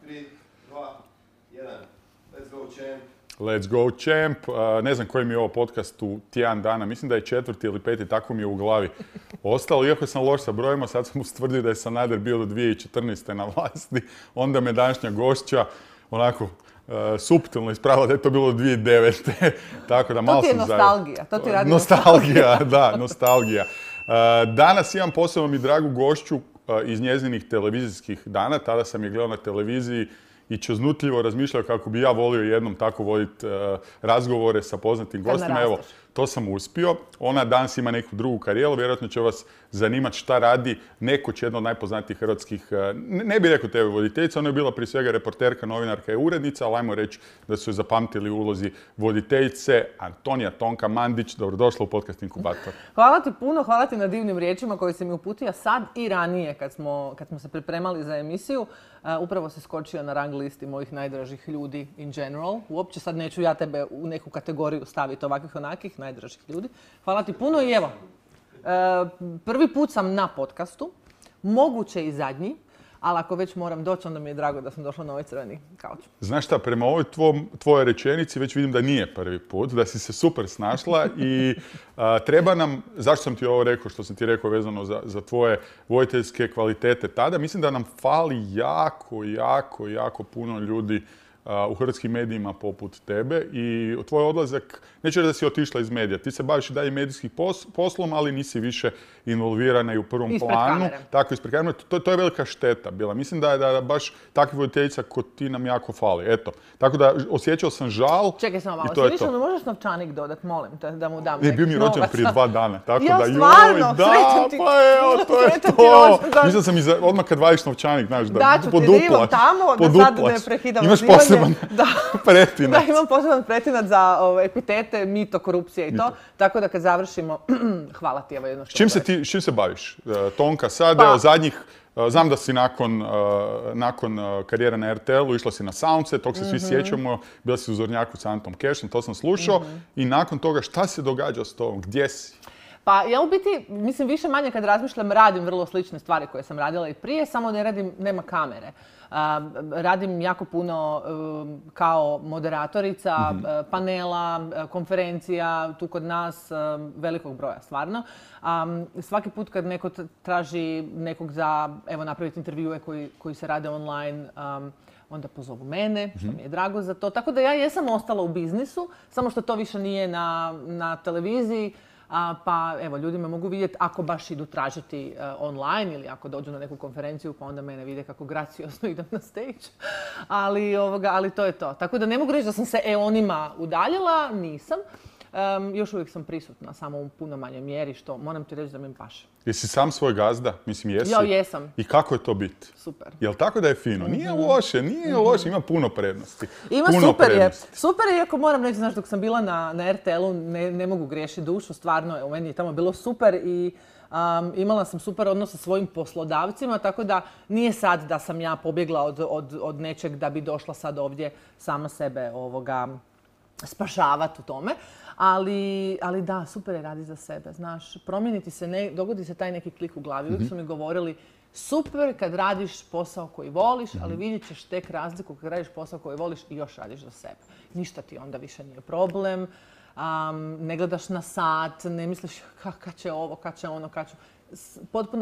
3, 2, 1. Let's go, champ. Let's go, champ. Ne znam koji mi je ovo podcast u tjedan dana. Mislim da je 4. ili 5. tako mi je u glavi ostalo. Iako sam loš sa brojima, sad sam ustvrdio da je Sanader bio do 2014. na vlasti. Onda me današnja gošća onako suptilno ispravila da je to bilo 2009. Tako da malo to ti je nostalgija. To ti radi nostalgija, da, nostalgija. Danas imam posebno mi dragu gošću iz njezinih televizijskih dana. Tada sam je gledao na televiziji i čeznutljivo razmišljao kako bi ja volio jednom tako voditi razgovore sa poznatim gostima. Evo, to sam uspio. Ona danas ima neku drugu karijeru. Vjerojatno će vas zanimati šta radi nekoć jedna od najpoznatijih hrvatskih, ne bih rekao TV voditeljica, ona je bila prije svega reporterka, novinarka i urednica, ali ajmo reći da su je zapamtili u ulozi voditeljice. Antonija Tonka Mandić, dobrodošla u podcast Inkubator. Hvala ti puno, hvala ti na divnim riječima koje si mi uputio sad i ranije kad smo se pripremali za emisiju. Upravo si skočio na rang listi mojih najdražih ljudi in general. Uopće sad neću ja tebe u neku kategoriju staviti ovakvih onakih najdražih ljudi. Hvala ti puno i evo, prvi put sam na podcastu, moguće i zadnji, ali ako već moram doći, onda mi je drago da sam došla na ovaj crveni kauč. Znaš šta, prema ovoj tvojoj rečenici već vidim da nije prvi put, da si se super snašla i treba nam, zašto sam ti ovo rekao, što sam ti rekao vezano za tvoje voditeljske kvalitete tada, mislim da nam fali jako puno ljudi u hrvatskim medijima poput tebe i tvoj odlazak, neću reći da si otišla iz medija, ti se baviš i dalje medijskih poslom, ali nisi više involvirana i u prvom planu. Kamere. Tako, ispred kamere. To je velika šteta bila. Mislim da baš takvi voditeljica kod ti nam jako fali. Eto. Tako da osjećao sam žal. Čekaj samo malo, si više mi možeš novčanik dodat, molim te, da mu dam neki bio mi rođen prije 2 dana. Tako ja, da, stvarno, srećem ti. Pa evo, to je to. Mislim sam odmah kad vadiš novčanik, znaš, da poduplaš. Da ću ti tamo, da sad ne prekidam imaš poseban pretinac. Da, imam poseban pretinac za epitete, mito, korupcije i to. Tako da kad završimo, hvala ti, evo jedno što s čim se baviš? Tonka, sad, evo zadnjih, znam da si nakon karijere na RTL-u išla si na Soundset, tog se svi sjećamo, bila si u Zornjaku s Antom Kešom, to sam slušao. I nakon toga, šta se događa s tobom? Gdje si? Pa ja u biti, mislim, više manje kad razmišljam, radim vrlo slične stvari koje sam radila i prije, samo ne radim, nema kamere. Radim jako puno kao moderatorica, panela, konferencija, tu kod nas velikog broja stvarno. Svaki put kad neko traži nekog za, evo, napraviti intervjue koji se rade online, onda pozovu mene, što mi je drago za to. Tako da ja jesam ostala u biznisu, samo što to više nije na televiziji. Pa evo, ljudi me mogu vidjeti ako baš idu tražiti online ili ako dođu na neku konferenciju pa onda mene vide kako graciozno idem na stage. Ali to je to. Tako da ne mogu reći da sam se eonima udaljila, nisam. Još uvijek sam prisutna, samo u puno manjoj mjeri, što moram ti reći da mi paše. Jesi sam svoj gazda? Mislim, jesi? Ja, jesam. I kako je to biti? Super. Jel tako da je fino? Nije loše, ima puno prednosti. Super je, iako moram reći, znaš, dok sam bila na RTL-u, ne mogu griješiti dušu, stvarno, u meni je tamo bilo super i imala sam super odnos sa svojim poslodavcima, tako da nije sad da sam ja pobjegla od nečeg da bi došla sad ovdje sama sebe spašavati u tome. Ali da, super je radi za sebe, znaš, promijeniti se, dogodi se taj neki klik u glavi. Uvijek su mi govorili, super kad radiš posao koji voliš, ali vidjet ćeš tek razliku kad radiš posao koji voliš i još radiš za sebe. Ništa ti onda više nije problem, ne gledaš na sat, ne misliš kad će ovo, kad će ono,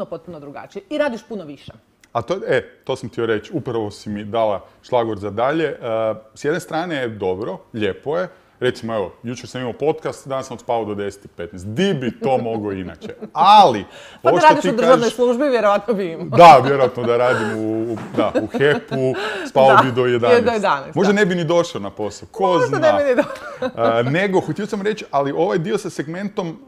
potpuno drugačije i radiš puno više. A to sam htio reći, upravo si mi dala šlagvort za dalje. S jedne strane je dobro, lijepo je. Recimo, evo, jučer sam imao podcast, danas sam odspavao do 10:15. Di bi to mogao inače? Ali, pa da radiš u državnoj službi, vjerojatno bi imao. Da, vjerojatno da radim u HEP-u, spavao bi do 11. Možda ne bi ni došao na posao, ko zna. Ne bi ni došao. Nego, htio sam reći, ali ovaj dio sa segmentom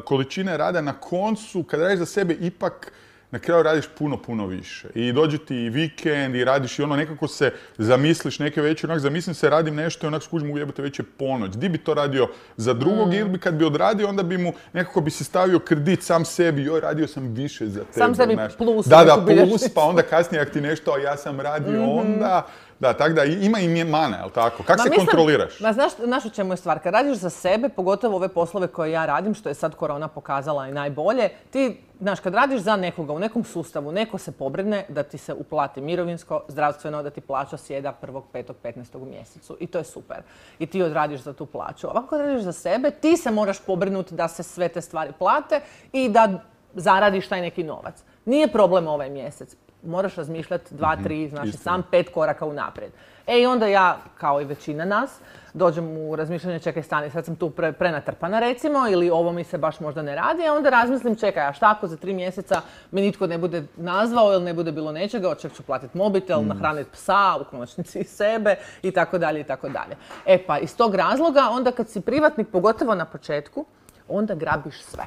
količine rada na koncu, kad radiš za sebe, ipak na kraju radiš puno više. I dođe ti i vikend i radiš i ono nekako se zamisliš neke večer, onak zamislim se radim nešto i onak skužim ujebate već je ponoć. Di bi to radio za drugog ili bi kad bi odradio onda bi mu nekako bi si stavio kredit sam sebi, joj radio sam više za tebe. Sam sebi plus. Da, plus, pa onda kasnije ako ti nešto, a ja sam radio onda. Da, tako da ima i mana, jel tako? Kako se Mislim, kontroliraš? znaš u čemu je stvar? Kad radiš za sebe, pogotovo ove poslove koje ja radim, što je sad korona pokazala i najbolje, ti, znaš, kad radiš za nekoga u nekom sustavu, neko se pobrine da ti se uplati mirovinsko, zdravstveno, da ti plaća sjeda 1., 5., 15. u mjesecu. I to je super. I ti odradiš za tu plaću. Ovako kad radiš za sebe, ti se moraš pobrinuti da se sve te stvari plate i da zaradiš taj neki novac. Nije problem ovaj mjesec. Moraš razmišljati 2, 3, znači sam 5 koraka unaprijed. I onda ja, kao i većina nas, dođem u razmišljanje, čekaj stani, sad sam tu prenatrpana recimo, ili ovo mi se baš možda ne radi, a onda razmislim, čekaj, a šta ako za 3 mjeseca me nitko ne bude nazvao ili ne bude bilo nečega, od čeg ću platiti mobitel, nahraniti psa, u konačnici i sebe, i tako dalje, i tako dalje. Pa iz tog razloga, onda kad si privatnik, pogotovo na početku, onda grabiš sve.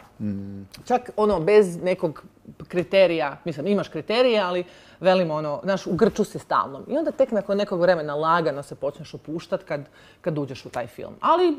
Čak bez nekog kriterija, mislim imaš kriterije, ali velimo znaš, u grču si stalno. I onda tek nakon nekog vremena lagano se počneš opuštati kad uđeš u taj film. Ali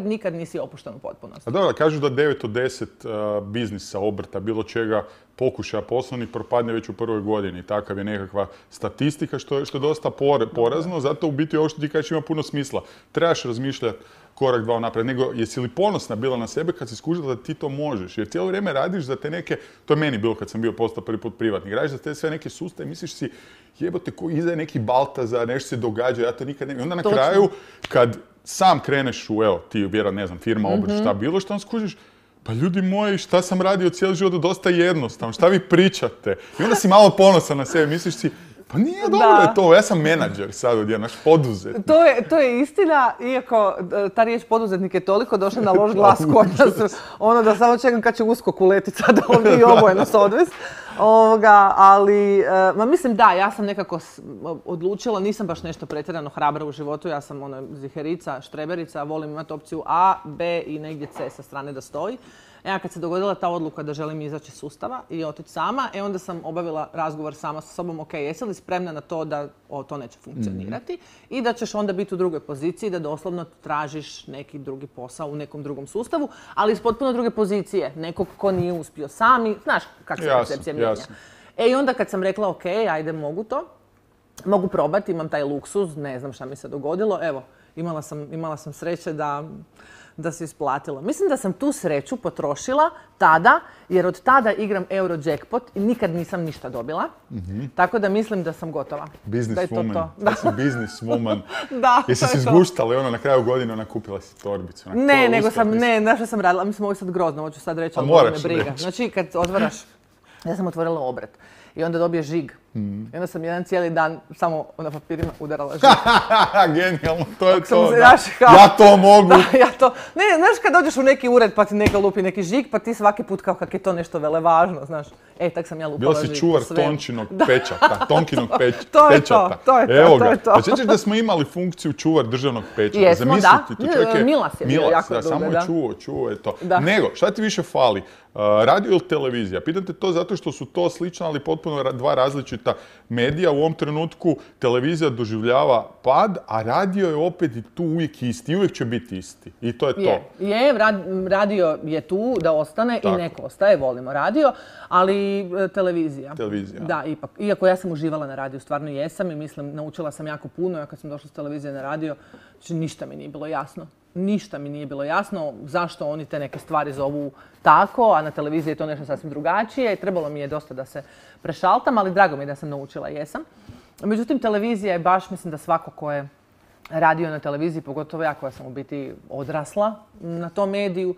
nikad nisi opušten u potpunosti. A dobro, kažu da 9 od 10 biznisa, obrta, bilo čega, pokušaja poslovnih propadne već u prvoj godini. Takav je nekakva statistika što je dosta porazno, zato u biti ovo što ti kažeš ima puno smisla. Trebaš razmišljati korak, 2 naprijed, nego jesi li ponosna bila na sebe kad si skužila da ti to možeš? Jer cijelo vrijeme radiš za te neke, to je meni bilo kad sam bio postao prvi put privatnik, radiš za te sve neke sustave i misliš si jebote ko iza je neki Baltazar, nešto se događa, ja to nikad ne... I onda na kraju, kad sam kreneš u, evo, ti vjerujem, ne znam, firma, obrt, šta bilo, šta on skužiš, pa ljudi moji, šta sam radio cijeli život, dosta jednostavno, šta vi pričate? I onda si malo ponosan na sebe, misliš si, pa nije dobro je to, ja sam menadžer sad odjednom, naš poduzetnik. To je istina, iako ta riječ poduzetnik je toliko došla na loš glas kod nas, da samo čekam kad će USKOK uletit sad ovdje i oboje nas odvest. Ali, mislim da, ja sam nekako odlučila, nisam baš nešto pretjerano hrabra u životu, ja sam ziherica, štreberica, volim imati opciju A, B i negdje C sa strane da stoji. Kad se dogodila ta odluka da želim izaći iz sustava i otići sama, onda sam obavila razgovor sama sa sobom, ok, jesi li spremna na to da to neće funkcionirati i da ćeš onda biti u drugoj poziciji, da doslovno tražiš neki drugi posao u nekom drugom sustavu, ali iz potpuno druge pozicije, nekog ko nije uspio sami, znaš kako se percepcija mijenja. I onda kad sam rekla, ok, ajde, mogu probati, imam taj luksuz, ne znam šta mi se dogodilo, evo, imala sam sreće da se isplatilo. Mislim da sam tu sreću potrošila tada, jer od tada igram Eurojackpot i nikad nisam ništa dobila. Tako da mislim da sam gotova. Business woman. Da si business woman. Da, jesi si zguštala na kraju godine kupila si torbicu? Znaš što sam radila? Mislim, ovo je sad grozno, hoću sad reći, ali me briga. Znači, kad otvaraš, ja sam otvorila obrt i onda dobiješ žig. I onda sam jedan cijeli dan samo na papirima udarala žig. Genijalno, to je to. Ja to mogu. Ne, znaš kad dođeš u neki ured pa ti neka lupi neki žig, pa ti svaki put kao kak je to nešto velevažno, znaš. Tak sam ja lupala žig. Bila si čuvar Tončinog pečata, Tonkinog pečata. To je to. Pa sjećaš da smo imali funkciju čuvar državnog pečata? Jesmo, da. Milas je bio jako dugo, da. Samo je čuo je to. Nego, šta ti više fali? Radio ili televizija? Pitam te to zato što su to slična, ali potpuno dva različita medija. U ovom trenutku televizija doživljava pad, a radio je opet i tu uvijek isti. Uvijek će biti isti. I to je to. Radio je tu da ostane i neko ostaje. Volimo radio, ali televizija. Da, ipak. Iako ja sam uživala na radiju, stvarno jesam i mislim, naučila sam jako puno. Ja kad sam došla s televizije na radio, znači ništa mi nije bilo jasno. Ništa mi nije bilo jasno zašto oni te neke stvari zovu tako, a na televiziji je to nešto sasvim drugačije. Trebalo mi je dosta da se prešaltam, ali drago mi je da sam naučila, jesam. Međutim, televizija je baš, mislim da svako ko je radio na televiziji, pogotovo ja koja sam u biti odrasla na tom mediju,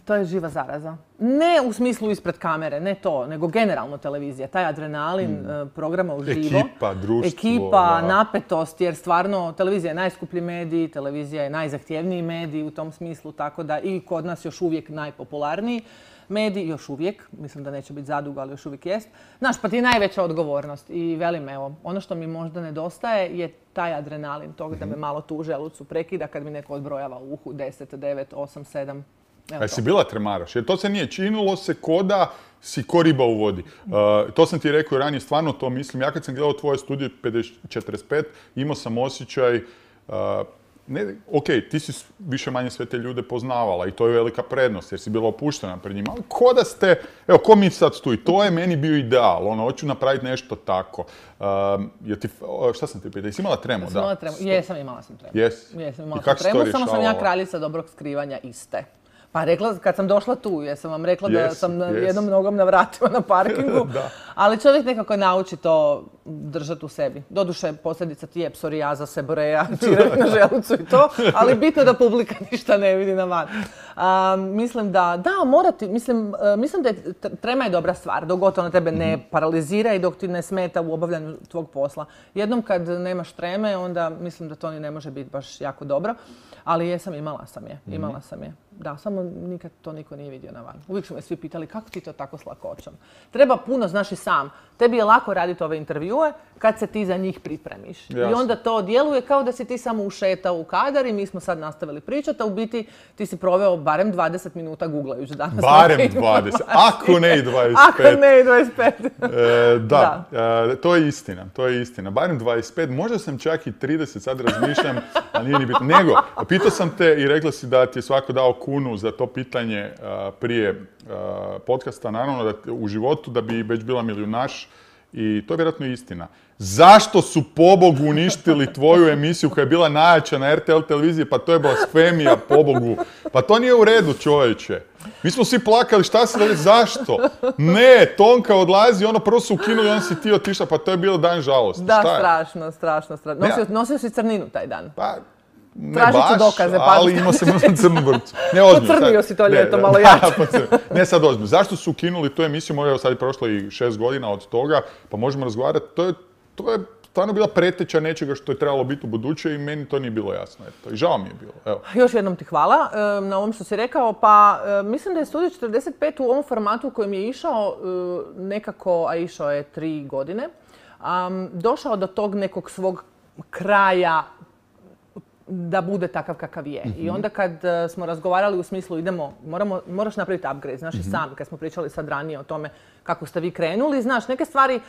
to je živa zaraza. Ne u smislu ispred kamere, ne to, nego generalno televizija. Taj adrenalin programa uživo. Ekipa, društvo. Ekipa, napetost, jer stvarno televizija je najskuplji medij, televizija je najzahtjevniji medij u tom smislu, tako da i kod nas još uvijek najpopularniji medij, još uvijek, mislim da neće biti zadugo, ali još uvijek jest. Znaš, pa ti je najveća odgovornost i velim, evo, ono što mi možda nedostaje je taj adrenalin tog da me malo tu u želucu prekida kad mi neko odbrojava u uhu 10, 9, 8, 7. A jesi bila tremaraš? Jer to se nije činilo se ko da si ko riba u vodi. To sam ti rekao ranije, stvarno to mislim. Ja kad sam gledao tvoje studije 45, imao sam osjećaj ok, ti si više manje sve te ljude poznavala i to je velika prednost jer si bila opuštena pred njima, ali ko da ste, evo, ko mi sad tu i to je meni bio ideal, ono, hoću napraviti nešto tako. Šta sam ti pitao, jesi imala tremu? Jesam imala tremu, imala sam tremu. Jesam Imala sam tremu, samo sam ja kraljica dobrog skrivanja iste. Pa rekla, kad sam došla tu, jesam vam rekla da sam jednom nogom na vratima na parkingu, ali čovjek nekako nauči to držati u sebi. Doduše, posljedica ti je psorijaza, seboreja, čirevi na želucu i to, ali bitno da publika ništa ne vidi na van. Mislim da morati, mislim da je trema je dobra stvar, dok god ona tebe ne paralizira i dok ti ne smeta u obavljanju tvog posla. Jednom kad nemaš treme, onda mislim da to ni ne može biti baš jako dobro, ali imala sam je. Da, samo nikad to niko nije vidio na van. Uvijek su me svi pitali kako ti to tako s lakoćom. Treba puno, znaš i sam. Tebi je lako raditi ove intervjue kad se ti za njih pripremiš. Jasne. I onda to djeluje kao da si ti samo ušetao u kadar i mi smo sad nastavili pričati, a u biti ti si proveo barem 20 minuta googlajući danas. Barem 20, ako ne i 25. Ako ne i 25. To je istina. Barem 25, možda sam čak i 30, sad razmišljam, ali nije ni bitno. Nego, pitao sam te i rekla si da ti je svako dao kunu za to pitanje prije podcasta, naravno da u životu da bi već bila milijunaš i to je vjerojatno istina. Zašto su pobogu uništili tvoju emisiju koja je bila najjača na RTL televiziji? Pa to je blasfemija, pobogu. Pa to nije u redu, čovječe. Mi smo svi plakali, šta se da, zašto? Ne, Tonka odlazi, ono prvo su ukinuli, on si ti otišla, pa to je bilo dan žalosti. Da, strašno. Nosio si crninu taj dan. Pa, ne tražit ću baš, dokaze, ali imao sam crnu vrpcu. Ne, ozbiljno. Pocrnio si to ljeto malo jače. Ne, sad ozbiljno. Zašto su ukinuli tu emisiju? Možda sad je prošlo i 6 godina od toga, pa možemo razgovarati. To je stvarno bila preteča nečega što je trebalo biti u buduće i meni to nije bilo jasno. Eto. I žao mi je bilo. Evo. Još jednom ti hvala na ovom što si rekao. Pa mislim da je Studio 45 u ovom formatu u kojem je išao nekako, a išao je 3 godine, došao do tog nekog svog kraja da bude takav kakav je. I onda kad smo razgovarali u smislu moraš napraviti upgrade, znaš i sam, kad smo pričali sad ranije o tome kako ste vi krenuli, znaš, neke stvari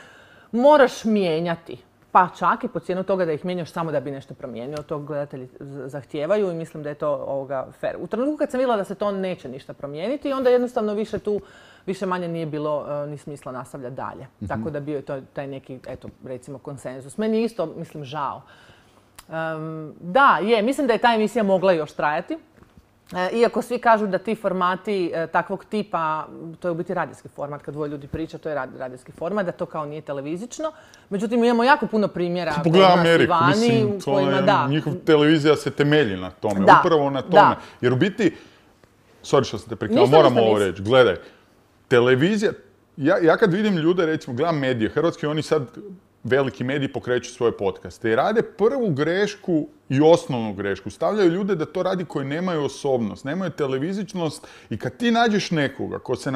moraš mijenjati. Pa čak i po cijenu toga da ih mijenjaš samo da bi nešto promijenio. To gledatelji zahtijevaju i mislim da je to fair. U trenutku kad sam vidjela da se to neće ništa promijeniti, onda jednostavno više manje nije bilo ni smisla nastavljati dalje. Tako da bio je to taj neki, eto, recimo, konsenzus. Meni je isto, mislim, žao. Mislim da je ta emisija mogla još trajati. Iako svi kažu da ti formati takvog tipa, to je u biti radijski format, kad dvoje ljudi priča, to je radijski format, da to kao nije televizičko. Međutim, imamo jako puno primjera kod nas i vani u kojima da. Njihov televizija se temelji na tome, upravo na tome. Jer u biti, sorry što sam te prekinula, moram ovo reći, gledaj, televizija, ja kad vidim ljude, recimo, gledam medije, hrvatski, oni sad veliki mediji pokreću svoje podcaste i rade prvu grešku i osnovnu grešku. Stavljaju ljude da to radi koji nemaju osobnost, nemaju televizičnost i kad ti nađeš nekoga ko se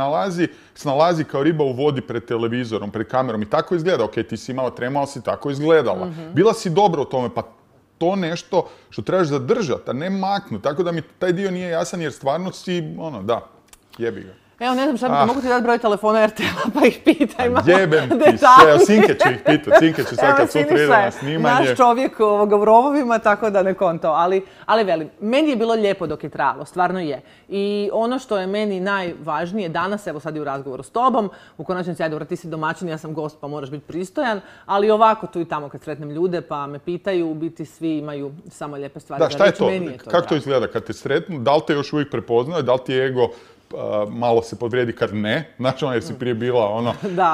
snalazi kao riba u vodi pred televizorom, pred kamerom i tako izgleda, ok, ti si imala tremu, ali si tako izgledala. Bila si dobra u tome, pa to nešto što trebaš zadržati, a ne maknuti. Tako da mi taj dio nije jasan jer stvarno si, jebi ga. Evo, ne znam šta bi, mogu ti dati broj telefona RTL-a pa ih pitaj malo jebem ti se, evo, Sinke će ih pitati, Sinke će sad kad sutra ide na snimanje. Naš čovjek u rovovima, tako da ne konto, ali velim, meni je bilo lijepo dok je trajalo, stvarno je. I ono što je meni najvažnije danas, evo sad i u razgovoru s tobom, u konačnici, ajde, ti si domaćin, ja sam gost pa moraš biti pristojan, ali ovako tu i tamo kad sretnem ljude pa me pitaju, u biti svi imaju samo lijepe stvari. Da, šta je to? Kako to izgleda kad te sretnu? Da li te još uvijek prepoznaju? Da li ti je ego malo se podvrijedi kad ne, znači jer si prije bila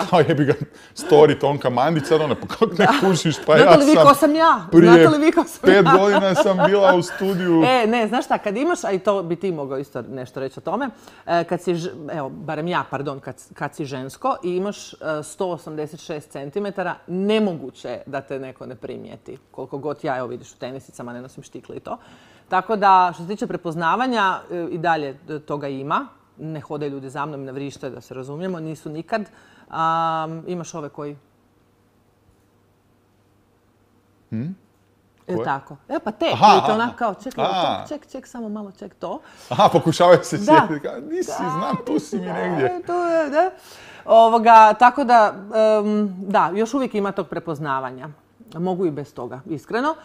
kao jebi ga story Tonka Mandić, sad pa kako ne kužiš, pa ja sam... Znate li vi ko sam ja? Prije 5 godina sam bila u studiju... Ne, znaš šta, kad imaš, a i to bi ti mogao isto nešto reći o tome, kad si, evo, barem ja, pardon, kad si žensko i imaš 186 cm, nemoguće je da te neko ne primijeti. Koliko god ja, evo vidiš, u tenisicama ne nosim štikle i to. Tako da, što se tiče prepoznavanja, i dalje toga ima. Ne hodaju ljudi za mnom, ne vrište, da se razumijemo, nisu nikad. Imaš ove koji... Tako. Evo pa te, vidite onak kao, ček, samo malo, ček to. Aha, pokušavaju se sjetiti, nisi, znam, tu si mi negdje. Tako da, još uvijek ima tog prepoznavanja. mogu i bez toga, iskreno.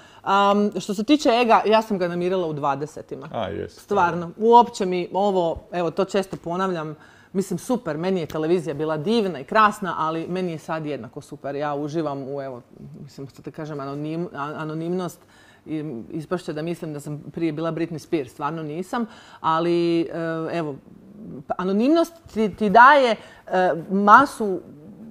Što se tiče ega, ja sam ga namirila u 20-ima. Stvarno. Uopće mi ovo, evo to često ponavljam, mislim super, meni je televizija bila divna i krasna, ali meni je sad jednako super. Ja uživam u, evo, mislim, što te kažem, anonimnost. Ispašće da mislim da sam prije bila Britney Spears, stvarno nisam, ali evo, anonimnost ti daje masu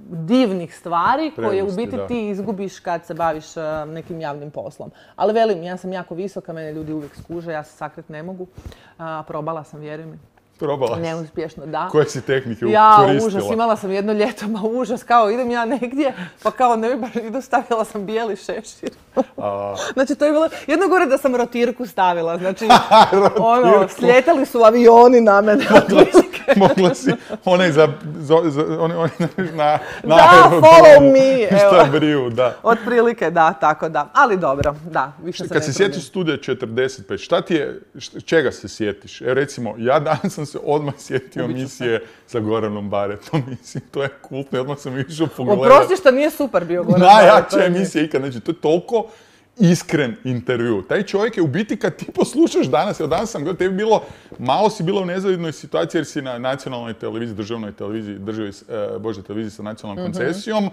divnih stvari koje u biti ti izgubiš kad se baviš nekim javnim poslom. Ali velim, ja sam jako visoka, mene ljudi uvijek skuže, ja se sakrit ne mogu. Probala sam, vjeruj mi. Probala si? Neuspješno, da. Koje si tehnike ja, koristila? Užas, imala sam jedno ljeto, užas, kao idem ja negdje, pa kao ne bi baš idu, stavila sam bijeli šešir. Znači to je bilo, jedno gore da sam rotirku stavila, znači slijetali su avioni na mene. Mogla si onaj na da, follow me. Šta briju, da. Otprilike, da, tako da. Ali dobro, da, više se ne Kad se sjetiš Studija 45, šta ti je, čega se sjetiš? Evo recimo, ja danas sam se odmah sjetio emisije sa Goranom Baretom. Mislim, to je kultno i odmah sam išao pogledati. Oprosti što nije super bio Goran Baret. Najjača emisija ikad, znači to je toliko iskren intervju. Taj čovjek je u biti kad ti poslušaš danas, evo danas sam gledao, tebi bilo, malo si bila u nezavidnoj situaciji jer si na nacionalnoj televiziji, državnoj televiziji, televiziji sa nacionalnom koncesijom,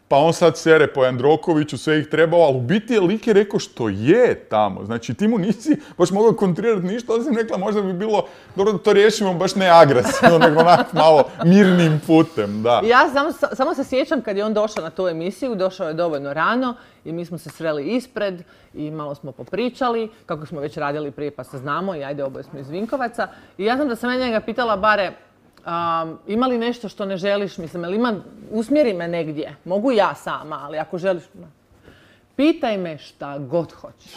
pa on sad sere po Jandrokoviću, sve ih trebao, ali u biti je lik je rekao što je tamo. Znači ti mu nisi baš mogao kontrirati ništa, ali sam rekla možda bi bilo dobro da to riješimo baš ne agresivno, nego onak malo mirnim putem, da. Ja samo se sjećam kad je on došao na tu emisiju, došao je dovoljno rano i mi smo se sreli ispred i malo smo popričali, kako smo već radili prije pa se znamo i ajde oboje smo iz Vinkovaca. I ja znam da sam njega pitala bare, ima li nešto što ne želiš, mislim, usmjeri me negdje, mogu ja sama, ali ako želiš, pitaj me šta god hoćeš.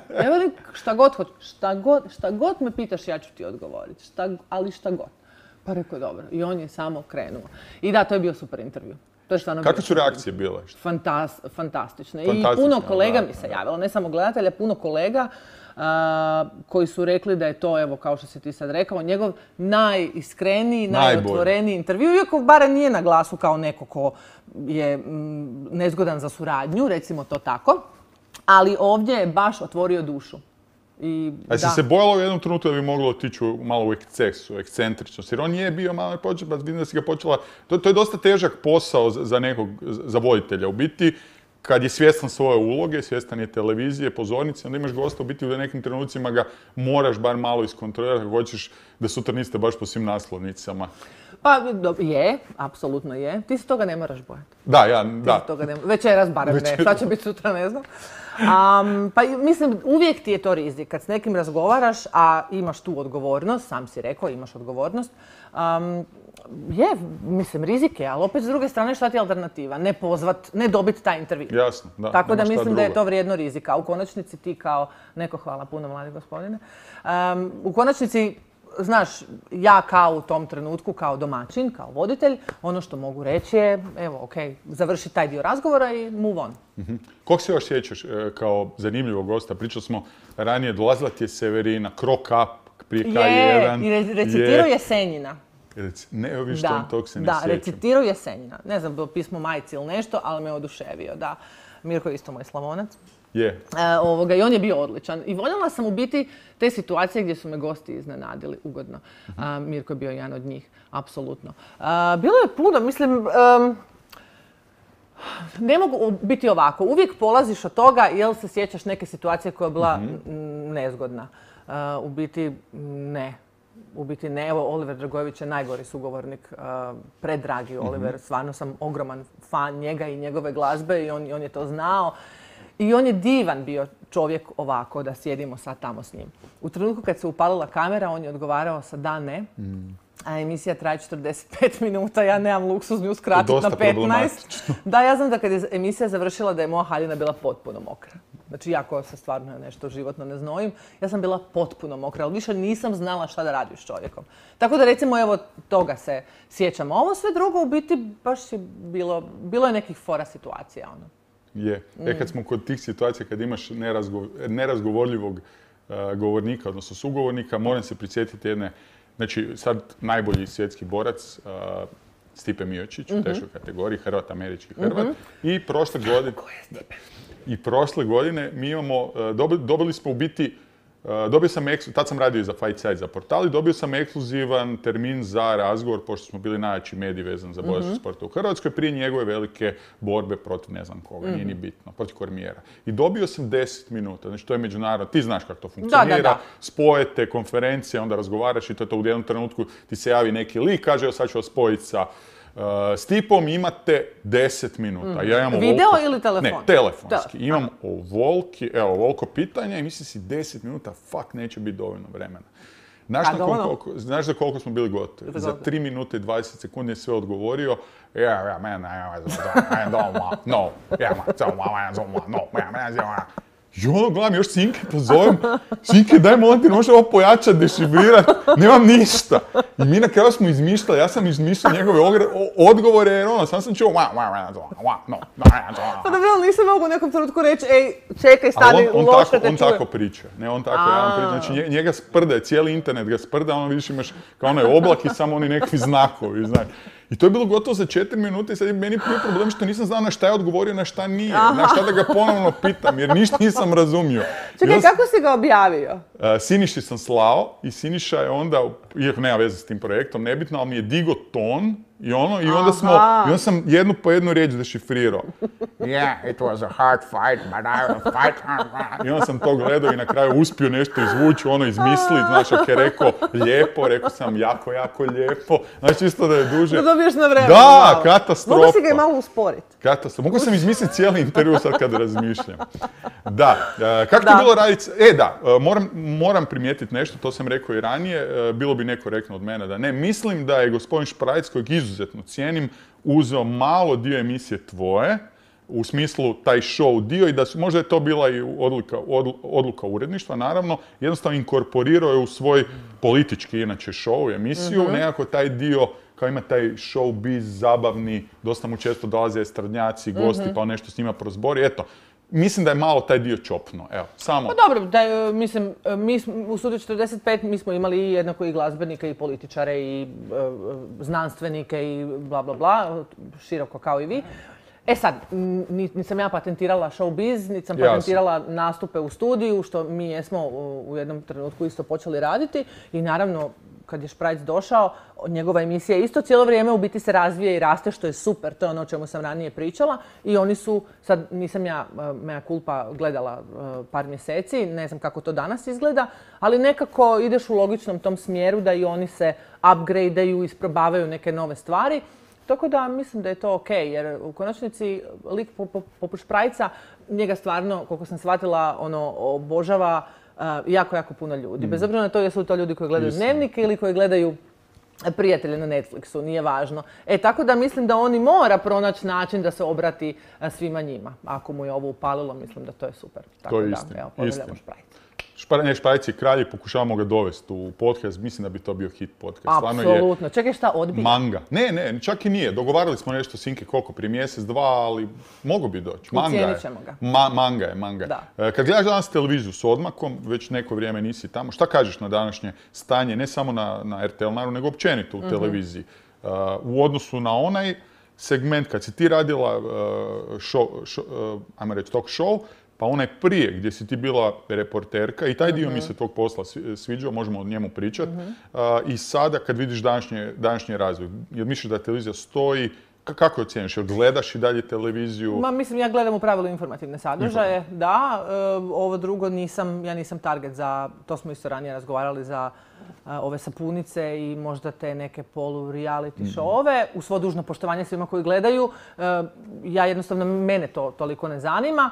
Evo li, šta god hoćeš, šta god me pitaš ja ću ti odgovoriti, ali šta god. Pa rekao dobro, i on je samo krenuo. I da, to je bio super intervju. Kakve su reakcije bile? Fantastične. I puno kolega mi se javilo, ne samo gledatelja, puno kolega koji su rekli da je to, evo, kao što si ti sad rekao, njegov najiskreniji, najotvoreniji intervju, iako barem nije na glasu kao neko ko je nezgodan za suradnju, recimo to tako, ali ovdje je baš otvorio dušu. A si se bojala u jednom trenutku da bi moglo otići malo u ekscentričnost, jer on nije bio malo počeo, pa vidim da si ga počela, to je dosta težak posao za voditelja. U biti, kad je svjestan svoje uloge, svjestan je televizije, pozornice, onda imaš gosta, u biti u nekim trenucima ga moraš bar malo iskontrolirati ako hoćeš da sutra niste baš po svim naslovnicama. Pa je, apsolutno je. Ti se toga ne moraš bojati. Da. Večeras barem ne, šta će biti sutra ne znam. Pa mislim, uvijek ti je to rizik. Kad s nekim razgovaraš, a imaš tu odgovornost, sam si rekao, imaš odgovornost, mislim, rizik je, ali opet s druge strane šta ti je alternativa? Ne pozvat, ne dobiti taj intervju. Jasno, da. Tako da mislim da je to vrijedno rizika. U konačnici ti kao, neko hvala puno mladi gospodine, u konačnici, znaš, ja kao u tom trenutku, kao domaćin, kao voditelj, ono što mogu reći je, evo, okej, završi taj dio razgovora i move on. Kog se još sjećaš kao zanimljivog gosta? Pričali smo ranije, dolazila ti je Severina, Krok Up prije K1. I recitirao Jesenjina. Neovišto tog se ne sjećam. Da, sjećam. recitirao Jesenjina. Ne znam, bilo pismo majci ili nešto, ali me oduševio, da. Mirko je isto moj Slavonac. I on je bio odličan. I voljela sam u biti te situacije gdje su me gosti iznenadili ugodno. Mirko je bio jedan od njih, apsolutno. Bilo je puno, mislim, ne mogu biti ovako. Uvijek polaziš od toga jel se sjećaš neke situacije koja je bila nezgodna. U biti ne. Evo, Oliver Dragojević je najgori sugovornik, predragi Oliver. Stvarno sam ogroman fan njega i njegove glazbe i on je to znao. I on je divan bio čovjek ovako, da sjedimo sad tamo s njim. U trenutku kad se upalila kamera, on je odgovarao sa da, ne. A emisija traje 45 minuta, ja nemam luksuz nju skratiti na 15. Da, ja znam da kad je emisija završila da je moja haljina bila potpuno mokra. Znači, ja koja se stvarno nešto životno ne znojim, ja sam bila potpuno mokra, ali više nisam znala šta da radim s čovjekom. Tako da recimo, evo, toga se sjećam. A ovo sve drugo u biti baš je bilo je nekih fora situacija, ono. Je. Kad smo kod tih situacija, kad imaš nerazgovorljivog govornika, odnosno sugovornika, moram se prisjetiti jedne, znači sad najbolji svjetski borac, Stipe Miočić u teškoj kategoriji, Hrvat, američki Hrvat. I prošle godine... Ko je Stipe? i prošle godine mi imamo, dobili smo u biti, dobio sam, tad sam radio i za Fight Site, za portal, i dobio sam ekskluzivan termin za razgovor, pošto smo bili najjači mediji vezan za boračke sporta u Hrvatskoj, prije njegove velike borbe protiv ne znam koga, nije ni bitno, protiv Kormijera. I dobio sam 10 minuta, znači to je međunarodno, ti znaš kako to funkcionira, spojete, konferencije, onda razgovaraš i to je to u jednom trenutku ti se javi neki lik, kaže, sad ću vas spojiti sa Stipom, imate 10 minuta. Ja imam video ili telefon? Ne, telefonski. Imam ovoliko pitanja i mislim si 10 minuta, fuck, neće biti dovoljno vremena. Znaš za koliko smo bili gotovi? Za 3 minute i 20 sekundi je sve odgovorio. I ono, gledam, još Sinke pozovem. Sinke, daj molim ti, možeš ovo pojačati, dešifrirati. Nemam ništa. I mi na kraju smo izmišljali, ja sam izmišljao njegove odgovore, jer ono, sam čuo Pa dobro, nisam mogu u nekom trenutku reći, ej, čekaj, stani, loše te čujem. On tako priča. Ne, on tako jedan priča. Znači, njega sprda, cijeli internet ga sprda, ono vidiš imaš kao onaj oblak i samo oni nekakvi znakovi, znaš. I to je bilo gotovo za 4 minute i sad je meni bio problem što nisam znao na šta je odgovorio, na šta nije. Na šta da ga ponovno pitam, jer ništa nisam razumio. Čekaj, kako si ga objavio? Siniši sam slao i Siniša je onda, iako nema veze s tim projektom, nebitno, ali mi je digo ton i onda sam jednu po jednu riječ dešifrirao. Yeah, it was a hard fight, but I will fight. I onda sam to gledao i na kraju uspio nešto izvući, izmisliti. Znaš, ako je rekao lijepo, rekao sam jako, jako lijepo. Znači, čisto da je duže. Da dobiješ na vreme. Da, katastrofa. Mogu si ga i malo usporiti. Katastrofa. Mogu sam izmisliti cijeli intervju sad kad razmišljam. Da, kako ti je bilo raditi? Moram primijetiti nešto, to sam rekao i ranije, bilo bi nekorektno od mene da ne. Mislim da je gospodin Šprajc, kojeg izuzetno cijenim, uzeo malo dio emisije tvoje, u smislu taj show dio, i da možda je to bila i odluka uredništva, naravno, jednostavno inkorporirao je u svoj politički, inače, show i emisiju, nekako taj dio, kao ima taj showbiz zabavni, dosta mu često dolaze estradnjaci, gosti, pa on nešto s njima prozbori, eto. Mislim da je malo taj dio čopno, evo, samo. Pa dobro, mislim, mi u Studiju 45 mi smo imali jednako i glazbenike i političare i znanstvenike i bla bla bla, široko kao i vi. E sad, nisam ja patentirala showbiz, niti sam patentirala nastupe u studiju, što mi jesmo u jednom trenutku isto počeli raditi i naravno, kad je Šprajc došao, njegova emisija isto cijelo vrijeme u biti se razvije i raste, što je super, to je ono o čemu sam ranije pričala. I oni su, sad nisam ja, mea culpa, gledala par mjeseci, ne znam kako to danas izgleda, ali nekako ideš u logičnom tom smjeru da i oni se upgradeaju, isprobavaju neke nove stvari. Tako da mislim da je to okej, jer u konačnici lik poput Šprajca, njega stvarno, koliko sam shvatila, obožava jako, jako puno ljudi. Bez obzira na to jesu li to ljudi koji gledaju Dnevnike ili koji gledaju Prijatelje na Netflixu, nije važno. Tako da mislim da on i mora pronaći način da se obrati svima njima. Ako mu je ovo upalilo, mislim da to je super. To je istina. Pozdravljamo Šprajca. Šprajc je kralj i pokušavamo ga dovesti u podcast. Mislim da bi to bio hit podcast. Apsolutno. Čekaj, šta odbija? Manga. Ne, čak i nije. Dogovarali smo nešto Sinke koliko, prije mjesec, dva, ali mogu bi doći. Ucijenit ćemo ga. Manga je. Kad gledaš danas televiziju s odmakom, već neko vrijeme nisi tamo, šta kažeš na današnje stanje, ne samo na RTL, naravno, nego općenito u televiziji? U odnosu na onaj segment, kad si ti radila ajmo reći, talk show, pa onaj prije gdje si ti bila reporterka i taj dio mi se tog posla sviđao, možemo o njemu pričati. I sada kad vidiš današnji razvoj, jel misliš da televizija stoji, kako je ocjeniš? Jel gledaš i dalje televiziju? Mislim, ja gledam u pravilu informativne sadržaje, da. Ovo drugo ja nisam target za, to smo isto ranije razgovarali, za ove sapunice i možda te neke polu-reality showove. U svo dužno poštovanje svima koji gledaju, ja jednostavno, mene to toliko ne zanima.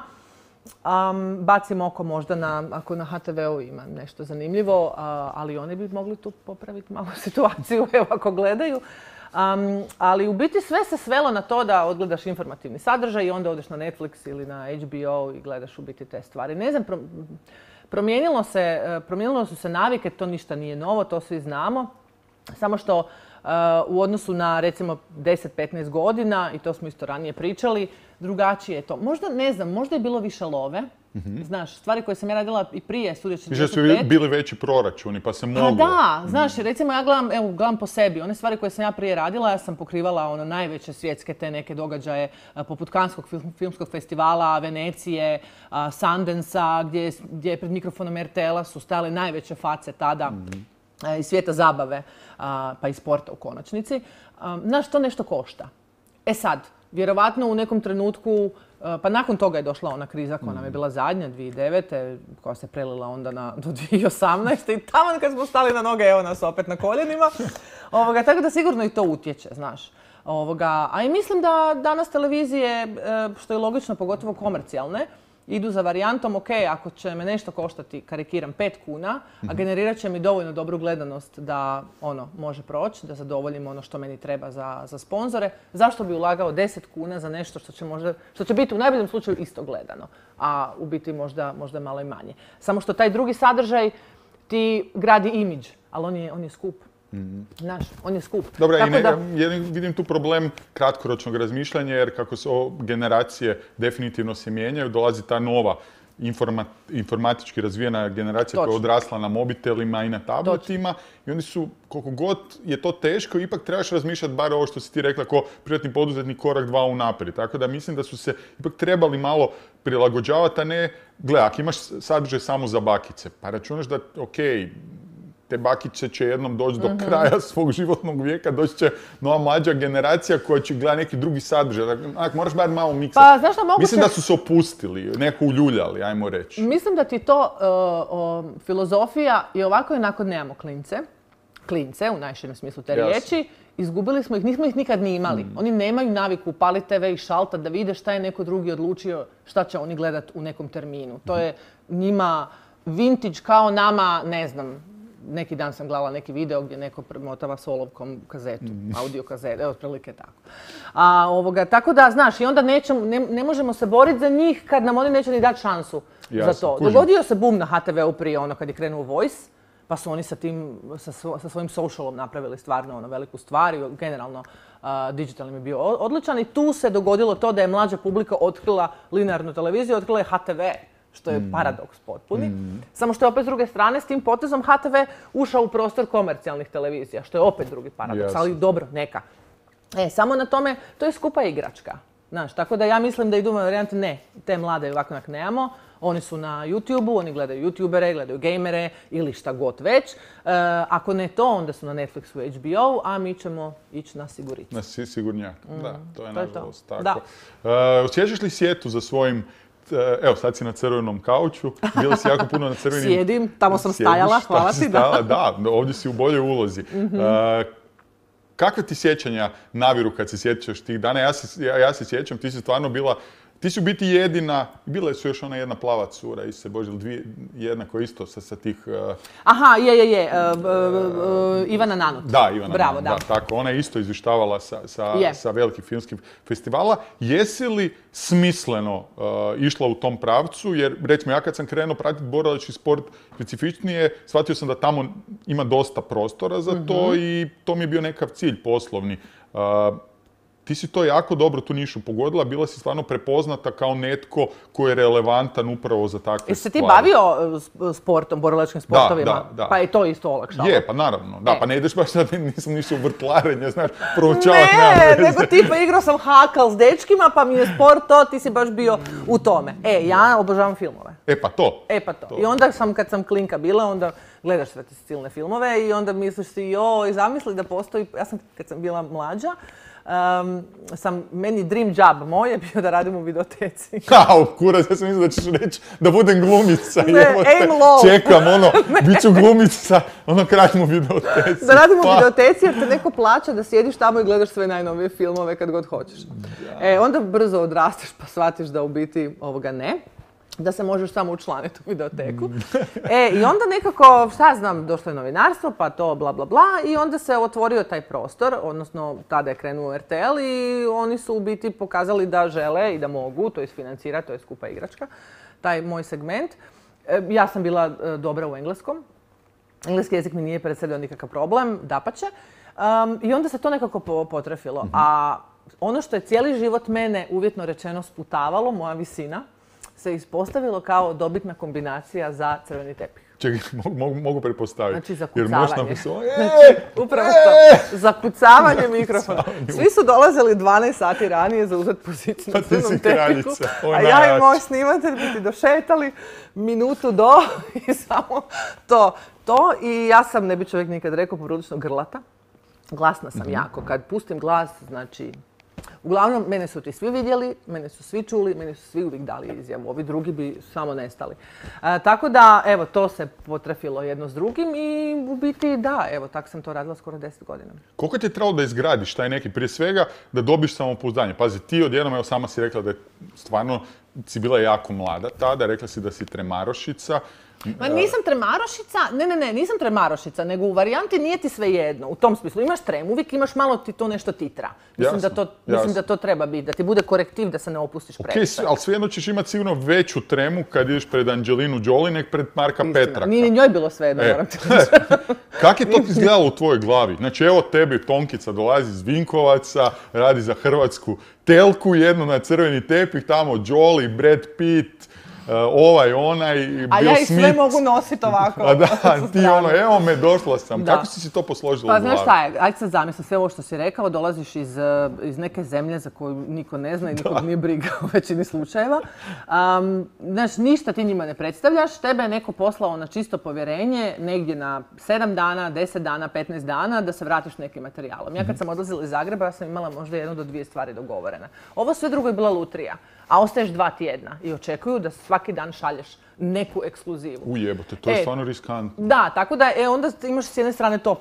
Bacim oko možda ako na HTV-u ima nešto zanimljivo, ali oni bi mogli tu popraviti malo situaciju, evo, ako gledaju. Ali u biti sve se svelo na to da odgledaš informativni sadržaj i onda odeš na Netflix ili na HBO i gledaš u biti te stvari. Ne znam, promijenilo su se navike, to ništa nije novo, to svi znamo. Samo što u odnosu na recimo 10-15 godina, i to smo isto ranije pričali, drugačije je to. Možda, ne znam, možda je bilo više love. Znaš, stvari koje sam ja radila i prije Studio 45. Više su bili veći proračuni, pa se moglo. Pa da, znaš, recimo ja gledam po sebi. One stvari koje sam ja prije radila, ja sam pokrivala najveće svjetske te neke događaje poput Kanskog filmskog festivala, Venecije, Sundance-a, gdje je pred mikrofonom RTL-a su stajale najveće face tada iz svijeta zabave, pa i sporta u konačnici. Znaš, to nešto košta. E sad, vjerovatno u nekom trenutku, pa nakon toga je došla ona kriza koja nam je bila zadnja, 2009. koja se prelila onda do 2018. I tamo kad smo stali na noge, evo nas opet na koljenima. Tako da sigurno i to utječe, znaš. A i mislim da danas televizije, što je logično, pogotovo komercijalne, idu za varijantom, ok, ako će me nešto koštati, karikiram, 5 kuna, a generirat će mi dovoljno dobru gledanost da može proći, da zadovoljim ono što meni treba za sponzore. Zašto bi ulagao 10 kuna za nešto što će biti u najboljem slučaju isto gledano, a u biti možda malo i manje. Samo što taj drugi sadržaj ti gradi imidž, ali on je skup. Znaš, on je skup. Dobro, vidim tu problem kratkoročnog razmišljanja, jer kako se generacije definitivno se mijenjaju, dolazi ta nova informatički razvijena generacija koja je odrasla na mobitelima i na tabletima. I oni su, koliko god je to teško, ipak trebaš razmišljati bar ovo što si ti rekla, ko privatni poduzetnik korak 2 unaprijed. Tako da mislim da su se ipak trebali malo prilagođavati, a ne, gle, ako imaš sadržaj samo za bakice, pa računaš da, okej, te bakice će jednom doći do kraja svog životnog vijeka, doći će nova mlađa generacija koja će gledati neki drugi sadržaj. Moraš bar malo miksati. Pa, znaš šta, mislim da su se opustili, neko uljuljali, ajmo reći. Mislim da ti to filozofija i ovako i onako nemamo klince, u najširem smislu te riječi. Izgubili smo ih, nismo ih nikad ni imali. Oni nemaju naviku upaliti TV i šaltat da vide šta je neko drugi odlučio, šta će oni gledat u nekom terminu. To je njima vintage kao nama, ne znam, neki dan sam gledala neki video gdje neko premotava s olovkom kazetu, audio kazetu, otprilike tako. Tako da, znaš, i onda ne možemo se boriti za njih kad nam oni neće ni dati šansu za to. Dogodio se boom na HTV-u prije kad je krenuo Voice, pa su oni sa svojim socialom napravili stvarno veliku stvar i generalno digitalni je bio odličan i tu se dogodilo to da je mlađa publika otkrila linearnu televiziju, otkrila je HTV. Što je paradoks potpuni. Samo što je opet s druge strane s tim potezom HTV ušao u prostor komercijalnih televizija, što je opet drugi paradoks, ali dobro, neka. Samo na tome, to je skupa igračka. Znaš, tako da ja mislim da idu u varijanti, ne, te mlade ovako nemamo, oni su na YouTube-u, oni gledaju YouTubere, gledaju gamere ili šta god već. Ako ne to, onda su na Netflixu i HBO, a mi ćemo ići na siguricu. Na sigurnjak, da, to je nažalost tako. Osjećaš li sjetu za svojim, evo sad si na crvenom kauču, bila si jako puno na crvenim... Sjedim, tamo sam stajala, hvala ti, da. Da, ovdje si u boljoj ulozi. Kakve ti sjećanja naviru kad se sjećaš tih dana? Ja se sjećam, ti si stvarno bila... Ti si u biti jedina, bila su još ona jedna plava cura, jedna koja isto sa tih... Aha, Ivana Nanut. Da, Ivana Bravo, Nanut, da, tako. Ona je isto izvještavala sa velikih filmskih festivala. Jesi li smisleno išla u tom pravcu? Jer, recimo, ja kad sam krenuo pratiti borilački sport specifičnije, shvatio sam da tamo ima dosta prostora za to i to mi je bio nekakav cilj poslovni. Ti si to jako dobro tu nišu pogodila, bila si stvarno prepoznata kao netko koji je relevantan upravo za takve stvari. Jesi se ti bavio sportom, borilačkim sportovima? Da. Pa je to isto olakšalo? Je, pa naravno. Da, pa ne ideš baš sad, nisam nišao u vrtlarenje, znaš, proučavati. Ne, nego tipa igrao sam hakal s dečkima, pa mi je sport to, ti si baš bio u tome. Ja obožavam filmove. Pa to. I onda kad sam klinka bila, onda gledaš sve te silne filmove i onda misliš si, joj, zamisli da postoji, kad sam bila mlađa, meni dream job moj je bio da radim u videoteci. Kurac, ja sam mislila da ćeš reći da budem glumica. Ne, aim low. Čekam, bit ću glumica, kratim u videoteci. Da radim u videoteci jer te neko plaća da sjediš tamo i gledaš sve najnovije filmove kad god hoćeš. Onda brzo odrasteš pa shvatiš da u biti ne. Da se možeš samo učlaniti u videoteku. I onda nekako, šta znam, došlo je novinarstvo, pa to bla bla bla i onda se otvorio taj prostor, odnosno tada je krenuo RTL i oni su u biti pokazali da žele i da mogu to isfinancirati, to je skupa igračka, taj moj segment. Ja sam bila dobra u engleskom. Engleski jezik mi nije predstavljao nikakav problem, dapače. I onda se to nekako potrefilo. A ono što je cijeli život mene uvjetno rečeno sputavalo, moja visina, se ispostavilo kao dobitna kombinacija za crveni tepih. Čekaj, mogu pretpostaviti. Znači, zakucavanje. Upravo to. Zakucavanje mikrofona. Svi su dolazili 12 sati ranije za uzeti poziciju na crvenom tepiku. A ja i moj snimatelj bi ti došetali minutu do i samo to. I ja sam, ne bi čovjek nikad rekao, poprilično grlata. Glasna sam jako. Kad pustim glas, znači... Uglavnom, mene su ti svi vidjeli, mene su svi čuli, mene su svi uvijek dali izjavu. Ovi drugi bi samo nestali. Tako da, evo, to se potrefilo jedno s drugim i u biti da, evo, tako sam to radila skoro 10 godina. Koliko ti je trebalo da izgradiš taj neki, prije svega, da dobiš samopouzdanje? Pazi, ti odjednom, evo, sama si rekla da je stvarno, si bila jako mlada tada, rekla si da si tremarošica. Ma nisam tremarošica, ne, nisam tremarošica, nego u varijanti nije ti sve jedno. U tom smislu, imaš trem, uvijek imaš malo ti to nešto titra. Mislim da to treba biti, da ti bude korektiv da se ne opustiš previše. Ali svejedno ćeš imati sigurno veću tremu kad ideš pred Angelinu Jolie nek pred Marka Petraka. Nije ni njoj bilo svejedno, moram ti reći. Kak je to izgledalo u tvojoj glavi? Znači, evo tebi Tonkica dolazi iz Vinkovaca, radi za hrvatsku telku, jednu na crveni tepih, tamo Jolie, Brad Pitt, ovaj, onaj, Bill Smith. A ja ih sve mogu nositi ovako. A da, ti ono, evo me, došla sam. Kako si to posložila u glavi? Pa znaš šta je, ajde sad zamisli sve ovo što si rekao, dolaziš iz neke zemlje za koju niko ne zna i nikog nije briga u većini slučajeva. Znaš, ništa ti njima ne predstavljaš, tebe je neko poslao na čisto povjerenje negdje na 7 dana, 10 dana, 15 dana da se vratiš nekim materijalom. Ja kad sam odlazila iz Zagreba, ja sam imala možda 1 do 2 stvari dogovorene. Ovo sve drugo je bila lutrija. A ostaješ 2 tjedna i očekuju da svaki dan šalješ neku ekskluzivu. Ujebote, to je stvarno riskantno. Da, tako da onda imaš s jedne strane to.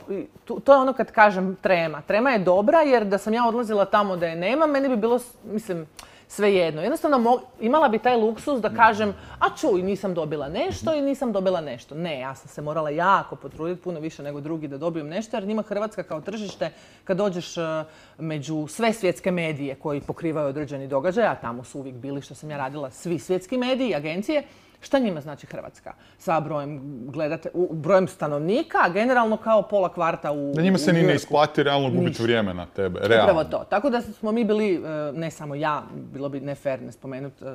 To je ono kad kažem trema. Trema je dobra jer da sam ja odlazila tamo da je nema, meni bi bilo, mislim, svejedno. Jednostavno imala bi taj luksus da kažem, a čuj, nisam dobila nešto i nisam dobila nešto. Ne, ja sam se morala jako potruditi, puno više nego drugi da dobijem nešto, jer njima Hrvatska kao tržište, kad dođeš među sve svjetske medije koji pokrivaju određeni događaj, a tamo su uvijek bili, što sam ja radila, svi svjetski mediji, agencije, šta njima znači Hrvatska? Sa brojem stanovnika, a generalno kao pola kvarta u da njima se ni ne isplati realno gubiti vrijeme na tebe, realno. Upravo to. Tako da smo mi bili, ne samo ja, bilo bi ne fair ne spomenuti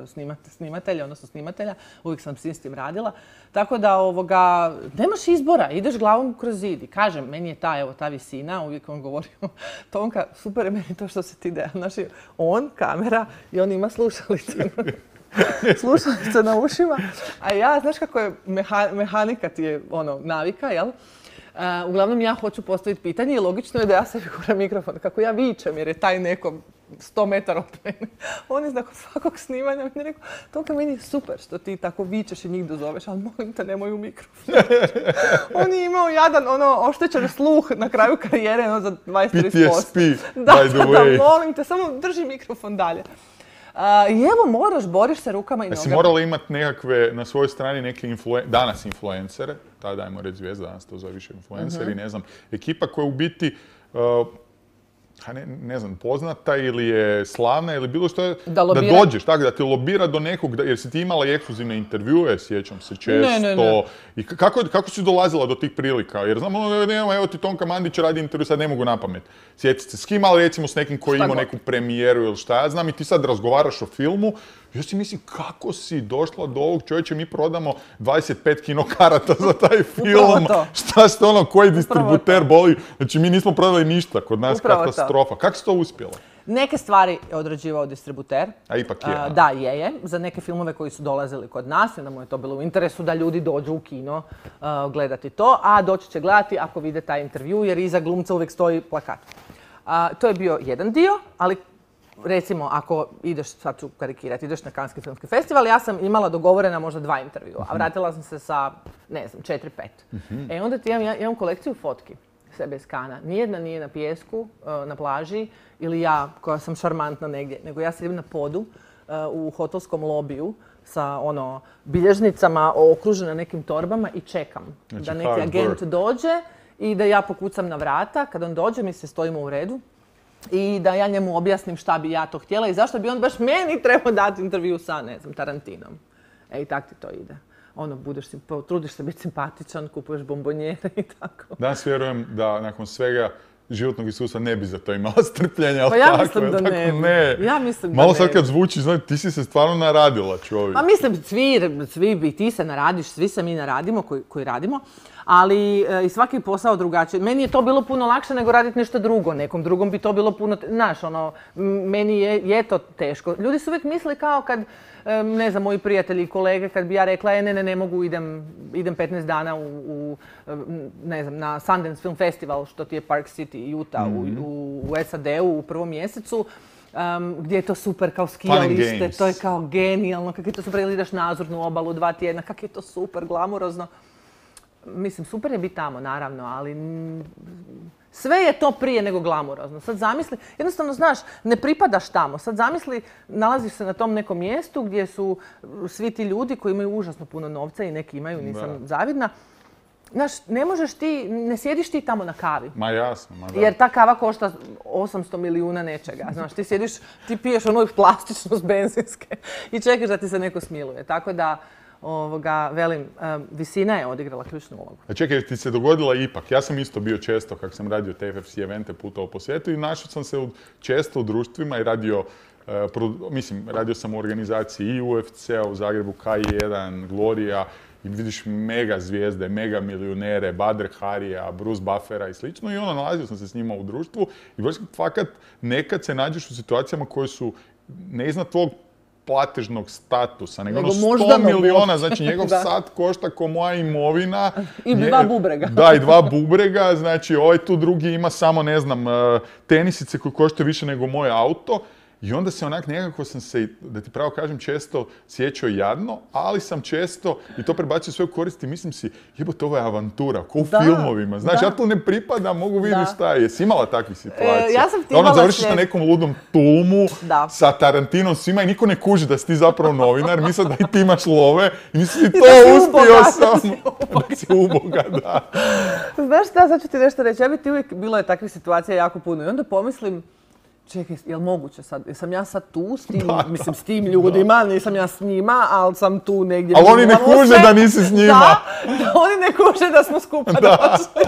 snimatelja, odnosno snimatelja, uvijek sam s tim radila. Tako da nemaš izbora, ideš glavom kroz zid. I kažem, meni je ta visina, uvijek on govori, Tonka, super je meni to što se ti dea. Znači, on, kamera i on ima slušalice. Slušalice na ušima, a ja, znaš kako je mehanika ti je navika, jel? Uglavnom ja hoću postaviti pitanje i logično je da ja sebi guram mikrofon. Kako ja vičem jer je taj neko 100 metara od mene. On je nakon svakog snimanja mi je rekao, Tonka, meni je super što ti tako vičeš i njih dozoveš, ali molim te, nemoj u mikrofon. On je imao jadan, oštećen sluh na kraju karijere, za 23%. PTSP, by the way. Da, molim te, samo drži mikrofon dalje. I evo, boriš se rukama i nogama. Jesi morala imati nekakve, na svojoj strani neke danas influencere, tada ajmo reći zvijezda, danas to zove više influenceri, ne znam, ekipa koja u biti, ne znam, poznata ili je slavna ili bilo što je, da dođeš, tako da te lobira do nekog, jer si ti imala ekskluzivne intervjue, sjećam se često. Ne. I kako si dolazila do tih prilika? Jer znam, evo ti Tonka Mandić radi intervju, sad ne mogu napamet. Sjetite se, s kim, ali recimo s nekim koji ima neku premijeru ili šta ja znam i ti sad razgovaraš o filmu. Ja si mislim, kako si došla do ovog čovječa, mi prodamo 25 kinokarata za taj film. Šta ste koji distributer boli? Znači, mi nismo prodali ništa, kod nas katastrofa. Kako si to uspjela? Neke stvari je odrađivao distributer. A ipak je. Da, je. Za neke filmove koji su dolazili kod nas, onda mu je to bilo u interesu da ljudi dođu u kino gledati to, a doći će gledati ako vide taj intervju, jer iza glumca uvijek stoji plakat. To je bio jedan dio, ali recimo, ako ideš, sad ću karikirati, ideš na Canneski filmski festival, ja sam imala dogovorena možda 2 intervjua, a vratila sam se sa, 4-5. Onda ti imam kolekciju fotki sebe iz Kana. Nijedna nije na pijesku, na plaži, ili ja koja sam šarmantna negdje, nego ja sedim na podu u hotelskom lobiju sa bilježnicama okružena nekim torbama i čekam da neki agent dođe i da ja pokucam na vrata. Kad on dođe, mi se stojimo u redu. I da ja njemu objasnim šta bi ja to htjela i zašto bi on baš meni trebao dati intervju sa, ne znam, Tarantinom. I tak ti to ide. Trudiš se biti simpatičan, kupuješ bombonjere i tako. Danas vjerujem da nakon svega životnog iskustva ne bi za to imala strpljenja. Pa ja mislim da ne. Ja mislim da Malo ne sad kad bi. zvuči, znači, ti si se stvarno naradila, čovjek. Pa mislim, svi bi, ti se naradiš, svi se mi naradimo koji radimo, ali i svaki posao drugačiji. Meni je to bilo puno lakše nego raditi nešto drugo. Nekom drugom bi to bilo puno, znaš, meni je to teško. Ljudi su uvijek mislili kao kad, ne znam, moji prijatelji i kolege, kad bi ja rekla, ne mogu, idem 15 dana ne znam, na Sundance Film Festival, što ti je Park City, Utah, u SAD-u u prvom mjesecu, gdje je to super kao skijalište, to je kao genijalno, kako je to super, ili ideš na Azurnu obalu 2 tjedna, kako je to super, glamurozno. Mislim, super je biti tamo, naravno, ali sve je to prije nego glamurozno. Sad zamisli, jednostavno, znaš, ne pripadaš tamo. Sad zamisli, nalaziš se na tom nekom mjestu gdje su svi ti ljudi koji imaju užasno puno novca i neki imaju, nisam zavidna. Znaš, ne sjediš ti tamo na kavi. Ma jasno, ma da. Jer ta kava košta 800 milijuna nečega. Znaš, ti sjediš, ti piješ onu plastičnost benzinske i čekaš da ti se neko smiluje. Tako da, velim, visina je odigrala ključnu ulogu. A čekaj, ti se dogodila ipak. Ja sam isto bio često, kako sam radio te FFC evente, putovao po svijetu i našao sam se često u društvima i radio sam u organizaciji i UFC-a u Zagrebu, K1, Gloria, i vidiš mega zvijezde, mega milionere, Badr Harija, Bruce Buffera i slično. I nalazio sam se s njima u društvu i fakat nekad se nađeš u situacijama koje su ne iznad tvog platežnog statusa, nego 100 miliona, znači njegov sat košta ko moja imovina. I 2 bubrega. Da, i 2 bubrega, znači ovaj tu drugi ima samo, ne znam, tenisice koje koštaju više nego moj auto. I onda se nekako sam se, da ti pravo kažem, često sjećao jadno, ali sam često i to prebacio svoju korist i mislim si, jebote, ovo je avantura, ko u filmovima. Znaš, ja tu ne pripadam, mogu vidjeti šta je. Jesi imala takvih situacija? Ja sam ti imala završiš na nekom ludom Tulmu sa Tarantinom svima i niko ne kuži da si ti zapravo novinar, misle da i ti imaš love i misli ti to uspio sam. Da si uboga, da. Znaš šta, sad ću ti nešto reći, ja bi ti uvijek, bilo je takvih situacija jako puno i onda pomislim, čekaj, je li moguće sad? Jesam ja sad tu s tim ljudima, nisam ja s njima, ali sam tu negdje. Ali oni ne kuže da nisi s njima. Da, oni ne kuže da smo skupa došli.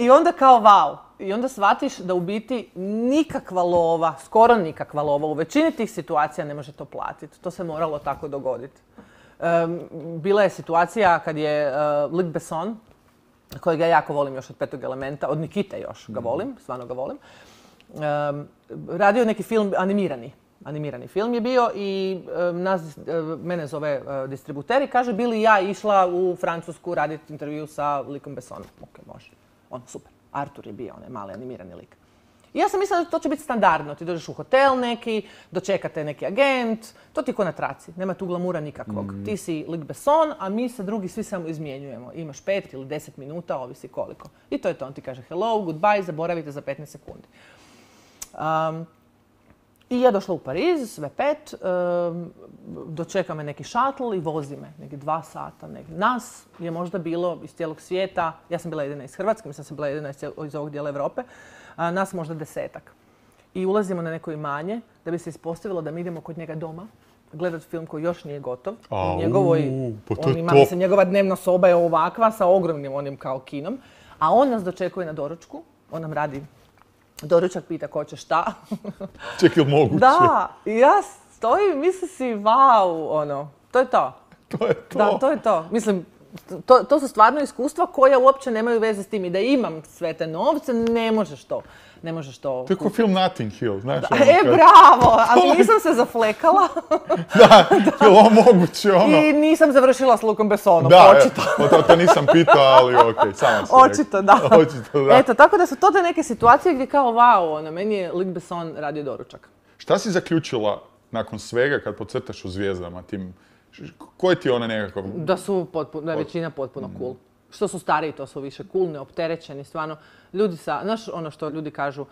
I onda kao wow. I onda shvatiš da u biti nikakva lova, skoro nikakva lova, u većini tih situacija ne može to platiti. To se moralo tako dogoditi. Bila je situacija kad je Luc Besson, kojeg ja jako volim još od Petog elementa, od Nikite još ga volim, stvarno ga volim, radio neki film, animirani film je bio i mene zove distributer i kaže bi li ja išla u Francusku raditi intervju sa Lucom Bessonom. Ok, može. Super. Artur je bio onaj mali animirani lik. I ja sam mislila da to će biti standardno. Ti dođeš u hotel neki, dočekate neki agent, to ti ko na traci. Nema tu glamura nikakvog. Ti si Luc Besson, a mi se drugi svi samo izmjenjujemo. Imaš 5 ili 10 minuta, ovisi koliko. I to je to. On ti kaže hello, goodbye, zaboravite za 15 sekundi. I ja došla u Pariz, sve 5, dočeka me neki šatl i vozi me, neki 2 sata. Nas je možda bilo iz cijelog svijeta, ja sam bila jedina iz Hrvatske, mislim sam bila jedina iz ovog dijela Europe, nas možda 10-ak. I ulazimo na neko imanje da bi se ispostavilo da mi idemo kod njega doma, gledati film koji još nije gotov. Njegova dnevna soba je ovakva sa ogromnim onim kao kinom, a on nas dočekuje na doručku, on nam radi doručak, pita ko će šta. Ček, ili moguće? Da, i ja stojim, mislim si, wow, to je to. To je to. Da, to je to. Mislim, to su stvarno iskustva koja uopće nemaju veze s tim. I da imam sve te novce, ne možeš to. To je kao film Notting Hill, znaš. Bravo! Ali nisam se zaflekala. Da, je li ovo moguće, I nisam završila s Lucom Bessonom, očito. To nisam pitao, ali okej, sama si očito, da. Eto, tako da su to te neke situacije gdje kao wow, meni je Luc Besson radio doručak. Šta si zaključila nakon svega kad podcrtaš u Zvijezdama tim? Koji ti je ona nekakav? Da je većina potpuno cool. Što su stariji, to su više cool, neopterećeni, stvarno. Ljudi znaš ono što ljudi kažu,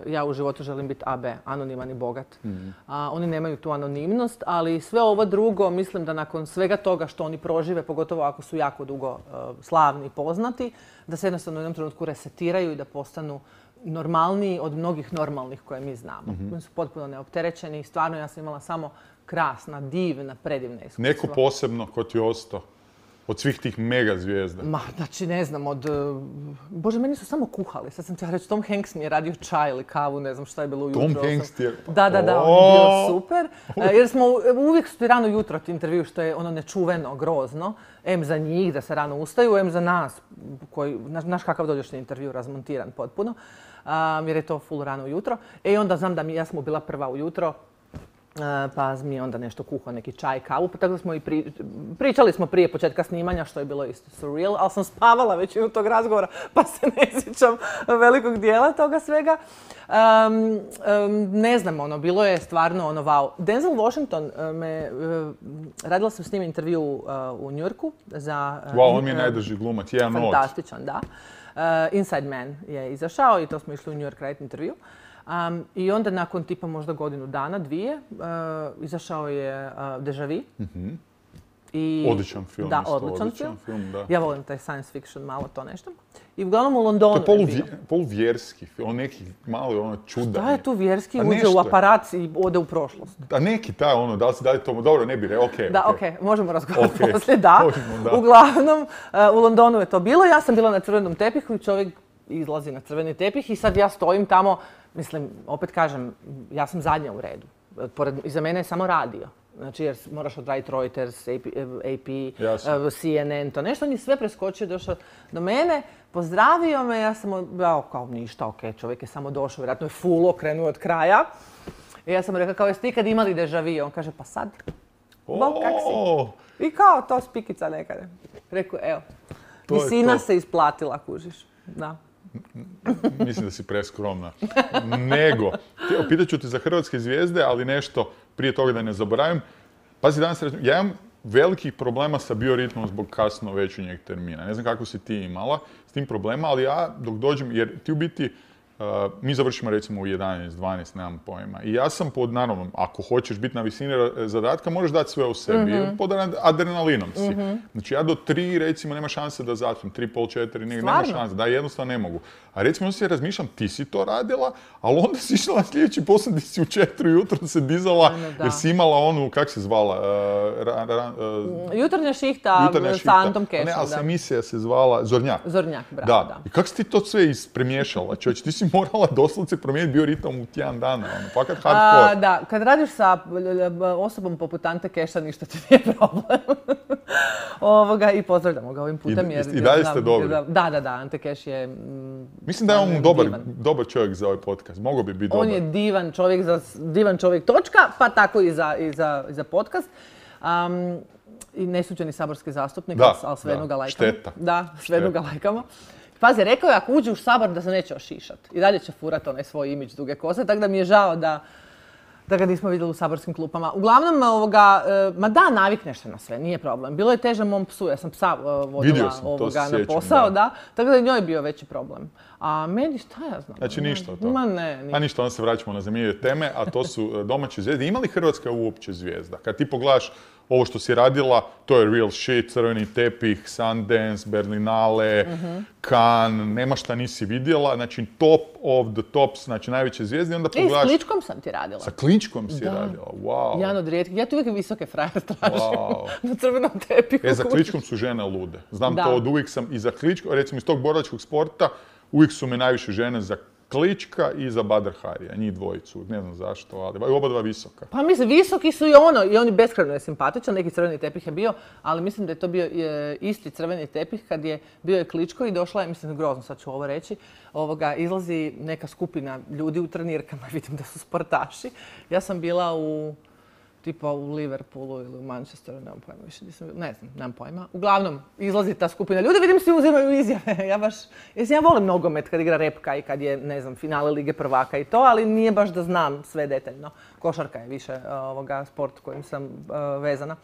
ja u životu želim biti AB, anoniman i bogat. Oni nemaju tu anonimnost, ali sve ovo drugo, mislim da nakon svega toga što oni prožive, pogotovo ako su jako dugo slavni i poznati, da se jednostavno u jednom trenutku resetiraju i da postanu normalniji od mnogih normalnih koje mi znamo. Oni su potpuno neopterećeni i stvarno ja sam imala samo krasna, divna, predivna iskustva. Neko posebno ko ti je ostao od svih tih mega zvijezda? Ma, znači ne znam, Bože, meni su samo kuhali. Sad sam ti reći, Tom Hanks mi je radio čaj ili kavu, ne znam šta je bilo ujutro. Tom Hanks ti je... Da, on je bio super. Jer smo uvijek su ti rano jutro ti intervju, što je ono nečuveno, grozno. Em za njih da se rano ustaju, em za nas, koji, znaš kakav dođeš na intervju, razmontiran potpuno. Jer je to full rano ujutro. I onda znam da ja sam bila prva ujutro, pa mi je onda nešto kuhao, neki čaj, kavu, pa tako smo i pričali smo prije početka snimanja, što je bilo isto surreal, ali sam spavala većinu tog razgovora, pa se ne sjećam velikog dijela toga svega. Ne znam, bilo je stvarno wow. Denzel Washington radila sam s njim intervju u New Yorku za... Wow, on mi je najdrži glumac, jedan od. Fantastičan, da. Inside Man je izašao i to smo išli u New York raditi intervju. I onda nakon tipa možda godinu dana, dvije, izašao je Deja Vu. Odličan film. Da, odličan film. Da. Ja volim taj science fiction, malo to nešto. I uglavnom u Londonu to je poluvjerski film, neki mali čudan. Šta je tu vjerski? Uđe u aparat i ode u prošlost. A neki taj da li to... Dobro, ne bi okej. Da, okej, možemo razgovarati poslije, da. Uglavnom, u Londonu je to bilo. Ja sam bila na crvenom tepihu i čovjek izlazi na crveni tepih i sad ja stojim tamo. Mislim, opet kažem, ja sam zadnja u redu. Iza mene je samo radio. Znači, jer moraš odraditi Reuters, AP, CNN, to nešto. On je sve preskočio, došao do mene, pozdravio me, ja sam kao ništa, okej, čovjek je samo došao, vjerojatno je full okrenuo od kraja. I ja sam rekla, kao jeste ikad imali deja vu? On kaže, pa sad. Bog, kak si? I kao to spikica nekada. Rekao, evo, visina se isplatila, kužiš. Da. Mislim da si preskromna. Nego, pitat ću te za hrvatske zvijezde, ali nešto prije toga da ne zaboravim. Pazi, danas ja imam velikih problema sa bioritmom zbog kasno večernjeg termina. Ne znam kako si ti imala s tim problema, ali ja dok dođem, jer ti u biti, mi završimo recimo u 11, 12, nemam pojma. I ja sam naravno, ako hoćeš biti na visini zadatka, možeš dati sve u sebi. Pod adrenalinom si. Znači ja do 3 recimo nema šanse da zaspim, 3,5, 4, nema šanse. Da, jednostavno ne mogu. A recimo se razmišljam, ti si to radila, ali onda si išla na sljedeći posao gdje si u 4 jutro se dizala, jer si imala onu, kak se zvala? Jutarnja šihta sa Antom Kešom. Ne, ali emisija se zvala Zornjak. Zornjak, bravo, da. I kako si ti to sve ispremiješala? Čovječ, ti si morala doslovce promijeniti bioritam u tjedan dana, fakat hardcore. Da, kad radiš sa osobom poput Ante Keša, ništa ti nije problem. I pozdravljamo ga ovim putem. I dalje ste dobri. Da, Ante Keš je... Mislim da je on dobar čovjek za ovaj podcast. Mogao bi biti dobar. On je divan čovjek točka, pa tako i za podcast. I nesuđeni saborski zastupnik, ali svejedno ga lajkamo. Šteta. Da, svejedno ga lajkamo. Pazi, rekao je ako uđe u Sabor da se neće ošišat. I dalje će furat onaj svoj imidž duge kose, tako da mi je žao da ga nismo vidjeli u saborskim klupama. Uglavnom, ma da, navikneš se na sve, nije problem. Bilo je teže mom psu, ja sam psa vodila na posao, da. Tako da je njoj bio veći problem. A meni šta ja znam? Znači ništa to? Ma ne. A ništa, onda se vraćamo na zanimljive teme, a to su domaće zvijezde. Ima li Hrvatska uopće zvijezda? Kad ti pogledaš ovo što si radila, to je real shit, crveni tepih, Sundance, Berlinale, Cannes, nema šta nisi vidjela, znači top of the tops, znači najveće zvijezde, onda pogledaš... I s Kličkom sam ti radila. Sa Kličkom si radila, wow. Jedan od rijetkih, ja tu uvijek visoke frajere tražim na crvenom tepihu. Za Kličkom su žene lude. Znam to od uvijek sam i za Kličkom, recimo iz tog borilačkog sporta, uvijek su me najviše žene za Klička i za Badr Harija, njih dvojicu, ne znam zašto, ali oba dva visoka. Pa mislim, visoki su i on je beskrajno je simpatičan, neki crveni tepih je bio, ali mislim da je to bio isti crveni tepih kad je bio je Kličko i došla je, mislim grozno sad ću ovo reći, izlazi neka skupina ljudi u trenirkama, vidim da su sportaši. Ja sam bila tipa u Liverpoolu ili u Manchesteru, nemam pojma više, nemam pojma. Uglavnom, izlazi ta skupina ljudi, vidim svi uzimaju izjave. Ja volim nogomet kad igra repka i kad je, ne znam, finale Lige prvaka i to, ali nije baš da znam sve detaljno. Košarka je više sport kojim sam vezana.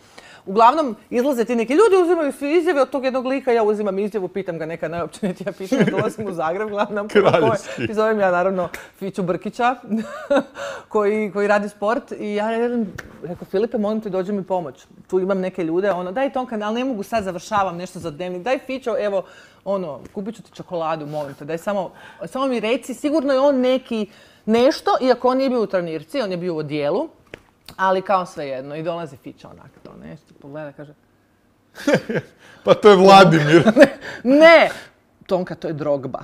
Uglavnom, izlaze ti neki ljudi, uzimaju svi izjave od tog jednog lika, ja uzimam izjavu, pitam ga neka najopćenitija pitanja, dolazim u Zagreb, gledam i zovem ja naravno Fiću Brkića, koji radi sport i ja rekao, Filipe, molim te, dođi mi pomoć. Tu imam neke ljude, daj Tonka, ali ne mogu sad, završavam nešto za dnevnik, daj Fićo, evo, kupit ću ti čokoladu, molim te, daj samo mi reci, sigurno je on nešto, iako on nije bio u trenirci, on je bio u odijelu, ali kao svejedno. I dolazi Fića onak to nešto, pogleda, kaže, Pa to je Vladimir. Ne, Tonka, to je Drogba.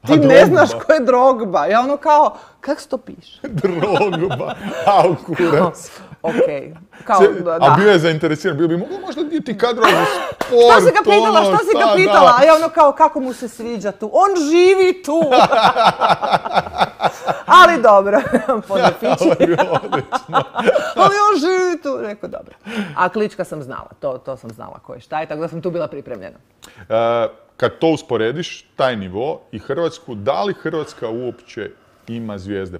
Ti ne znaš ko je Drogba. Ja ono kao, kak se to piše? Drogba. Au, kurac. Okej. Kao, da. A bio je zainteresiran, bio bi mogao možda biti kadrova za sport. Što si ga pitala? A ja ono kao, kako mu se sviđa tu? On živi tu! Ali dobro, podnapići. Ali on živi tu. Rekao, dobro. A Klička sam znala, to sam znala ko je šta je, tako da sam tu bila pripremljena. Kad to usporediš, taj nivo i Hrvatsku, da li Hrvatska uopće ima zvijezde?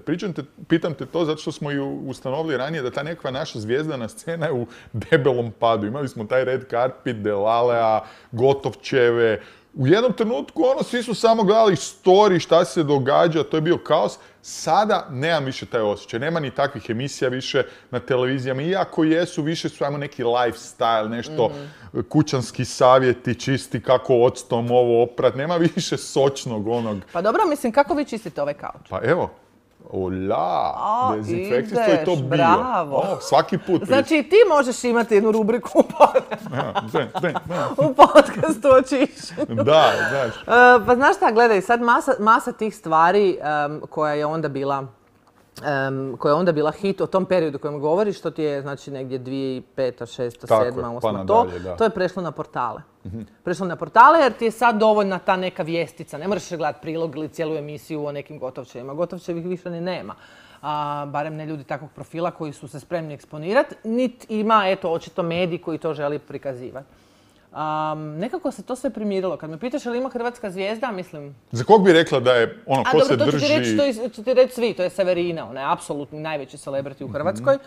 Pitam te to zato što smo i ustanovili ranije da ta nekakva naša zvijezdana scena je u debelom padu. Imali smo taj red carpet, Delalea, Gotovčeve. U jednom trenutku svi su samo gledali story, šta se događa, to je bio kaos. Sada nemam više taj osjećaj, nema ni takvih emisija više na televizijama. Iako jesu, više su ajmo neki lifestyle, nešto kućanski savjeti, čisti kako octom ovo oprat. Nema više sočnog onog. Pa dobro, mislim, kako vi čistite ovaj kauč? Pa evo. Dezinfekcijsko je to bio. Bravo. Svaki put. Znači ti možeš imati jednu rubriku u podcastu o čišćenju. Da, znaš. Pa znaš šta, gledaj, sad masa tih stvari koja je onda bila hit o tom periodu o kojem govoriš, to ti je znači negdje 2005, 2006, 2007, 2008, to je prešlo na portale. Prešlo na portale jer ti je sad dovoljna ta neka vijestica. Ne moraš gledati prilog ili cijelu emisiju o nekim Gotovčevima. Gotovčevih više ni nema. Barem ne ljudi takvog profila koji su se spremni eksponirati. Niti ima, očito mediji koji to želi prikazivati. Nekako se to sve primirilo. Kad me pitaš je li ima hrvatska zvijezda, mislim... Za kog bi rekla da je ko se drži... To ću ti reći svi, to je Severina. Ona je apsolutni najveći celebrity u Hrvatskoj.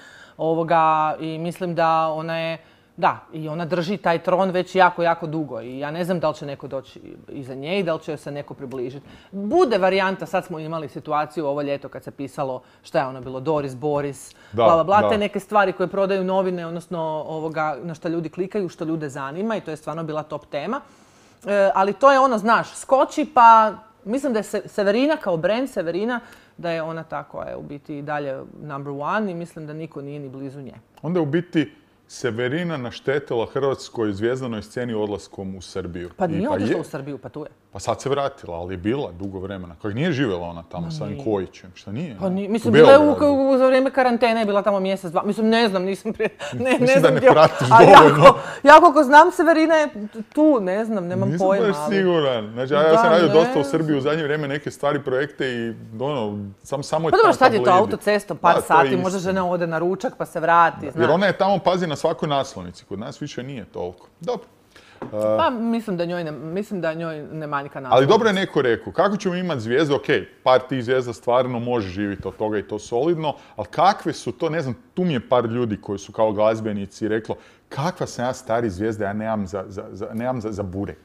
I mislim da ona je... Da, i ona drži taj tron već jako, jako dugo i ja ne znam da li će neko doći iza nje i da li će joj se neko približiti. Bude varijanta, sad smo imali situaciju ovo ljeto kad se pisalo šta je ono bilo, Doris, Boris, te neke stvari koje prodaju novine, odnosno na što ljudi klikaju, što ljude zanima i to je stvarno bila top tema. Ali to je znaš, skoči pa mislim da je Severina kao brand, Severina, da je ona ta koja je u biti dalje number one i mislim da niko nije ni blizu nje. Onda u biti Severina naštetila hrvatskoj zvijezdanoj sceni odlaskom u Srbiju. Pa nije otišla u Srbiju, pa tu je. Pa sad se vratila, ali je bila dugo vremena. Kojeg nije živjela ona tamo sa ovim Kojićem, šta nije? Pa nije, mislim, bila je za vrijeme karantene, je bila tamo mjesec, dva. Mislim, ne znam, nisam prije... Mislim da ne pratiš dovoljno. Ja koliko znam, Severina je tu, ne znam, nemam pojma. Nisam baš siguran. Znači, ja sam radio dosta u Srbiji u zadnje vrijeme neke stvari, projekte i samo je pa dobro, šta je to autocestom, par sati, možda žena ode na ručak pa se vrati, znaš. Jer ona je tamo, pazi, na svakoj naslovnici, kod nas više nije toliko. Dobro. Pa mislim da njoj ne manjka naslovnica. Ali dobro je neko rekao, kako ćemo imati zvijezde, ok, par tih zvijezda stvarno može živjeti od toga i to solidno, ali kakve su to, ne znam, tu mi je par ljudi koji su kao glazbenici reklo, kakva sam ja stari zvijezda, ja nemam za burek.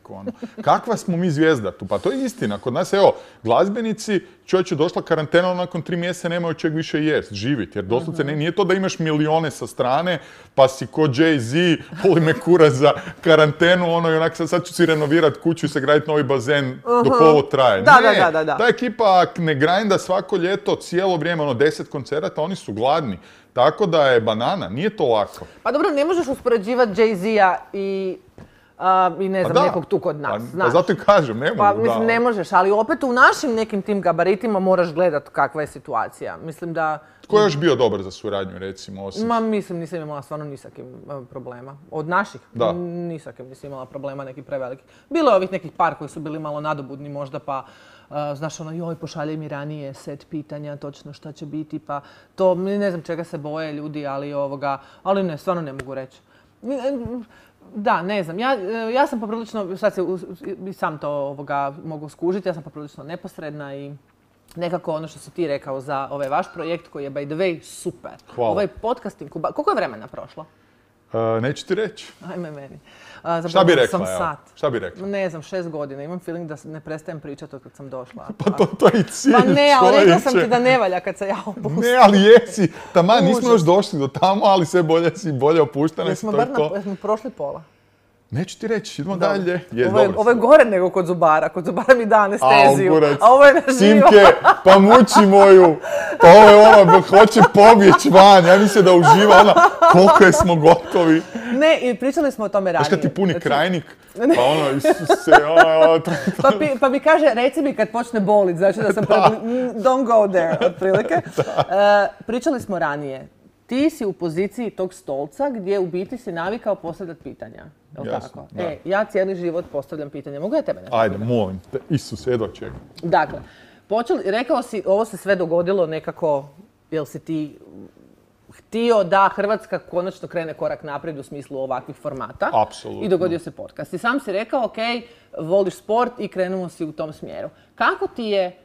Kakva smo mi zvijezda tu? Pa to je istina. Kod nas, evo, glazbenici, čovječe, došla karantena, nakon 3 mjeseca nemaju čeg više jest, živjeti. Jer doslovce nije to da imaš milijone sa strane, pa si ko Jay-Z, voli me kurac za karantenu, i onak sad ću si renovirati kuću i sagraditi novi bazen dok ovo traje. Da. Ta ekipa ne grinda svako ljeto, cijelo vrijeme, 10 koncerata, oni su gladni. Tako da je banana, nije to lako. Pa dobro, ne možeš uspoređivati Jay-Z-a i ne znam, nekog tu kod nas. Pa zato i kažem, ne mogu. Pa mislim, ne možeš, ali opet u našim nekim tim gabaritima moraš gledati kakva je situacija. Mislim da... Tko je još bio dobar za suradnju, recimo, osim? Mislim, nisam imala stvarno ni sa kim problema. Od naših? Ni sa kim nisam imala problema neki preveliki. Bilo je ovih nekih par koji su bili malo nadobudni možda, pa... Znaš, joj, pošalje mi ranije set pitanja, točno šta će biti, pa to, ne znam čega se boje ljudi, ali ne, stvarno ne mogu reći. Da, ne znam, ja sam poprilično, sad se i sam to mogu skužiti, ja sam poprilično neposredna i nekako ono što si ti rekao za ovaj vaš projekt koji je by the way super. Hvala. Ovaj podcasting, koliko je vremena prošlo? Neću ti reći. Ajme meni. Šta bi rekla, evo? Šta bi rekla? Ne znam, 6 godina. Imam feeling da ne prestajem pričati od kad sam došla. Pa to je i cilj, Pa ne, ali rekla sam ti da ne valja kad se ja opustim. Ne, ali jesi. Taman, nismo još došli do tamo, ali sve bolje opuštane. Jesmo prošli pola. Neću ti reći, idemo dalje. Ovo je gore nego kod zubara. Kod zubara mi da anesteziju, a ovo je na živo. Simke, pa muči moju. Pa ovo je hoće pobjeći van. Ja mislim da uživa koliko smo gotovi. Ne, i pričali smo o tome ranije. Znaš kad ti puni krajnik, pa ono, Isuse, Pa mi kaže, reci mi kad počne bolit, znači da sam don't go there, otprilike. Pričali smo ranije. Ti si u poziciji tog stolca gdje u biti si navikao postavljati pitanja. Jel' tako? Ja cijeli život postavljam pitanja. Mogu ja tebe nešto? Ajde, molim te. Isus, jedva čekam. Dakle, rekao si, ovo se sve dogodilo nekako, jel si ti htio da Hrvatska konačno krene korak naprijed u smislu ovakvih formata. Apsolutno. I dogodio se podcast. I sam si rekao, ok, voliš sport i krenuo si u tom smjeru. Kako ti je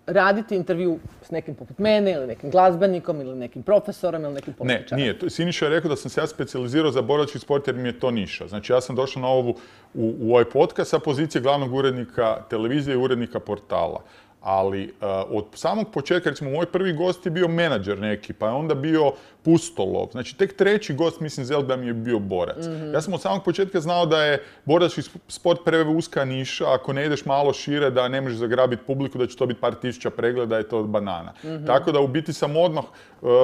raditi intervju s nekim poput mene ili nekim glazbenikom ili nekim profesorom ili nekim političarom? Ne, nije. Siniša je rekao da sam se ja specijalizirao za borački sport jer mi je to niša. Znači ja sam došao na u ovaj podcast sa pozicije glavnog urednika televizije i urednika portala. Ali od samog početka, recimo, moj prvi gost je bio menadžer neki, pa je onda bio pustolov. Znači, tek treći gost, mislim, da mi je bio borac. Ja sam od samog početka znao da je borački sport preuska niša, ako ne ideš malo šire, da ne možeš zagrabiti publiku, da će to biti par tisuća pregleda, je to od banana. Tako da, u biti sam odmah,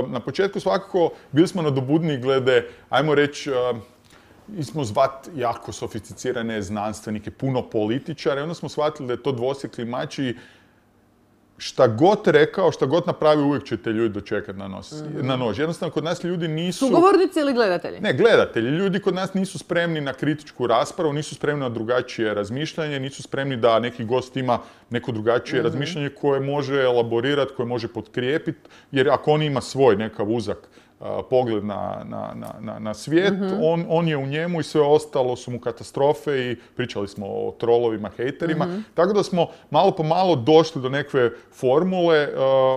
na početku svakako, bili smo nadobudni glede, ajmo reći, mi smo zvat jako sofisticirane znanstvenike, puno političare, onda smo shvatili da je to dvosjekli mač i šta god rekao, šta god napravi, uvijek će te ljudi dočekati na nož. Jednostavno, kod nas ljudi nisu... Sugovornici ili gledatelji? Ne, gledatelji. Ljudi kod nas nisu spremni na kritičku raspravu, nisu spremni na drugačije razmišljanje, nisu spremni da neki gost ima neko drugačije razmišljanje koje može elaborirati, koje može potkrijepiti, jer ako on ima svoj nekav uzak pogled na svijet, on je u njemu i sve ostalo su mu katastrofe i pričali smo o trolovima, hejterima. Tako da smo malo po malo došli do nekve formule,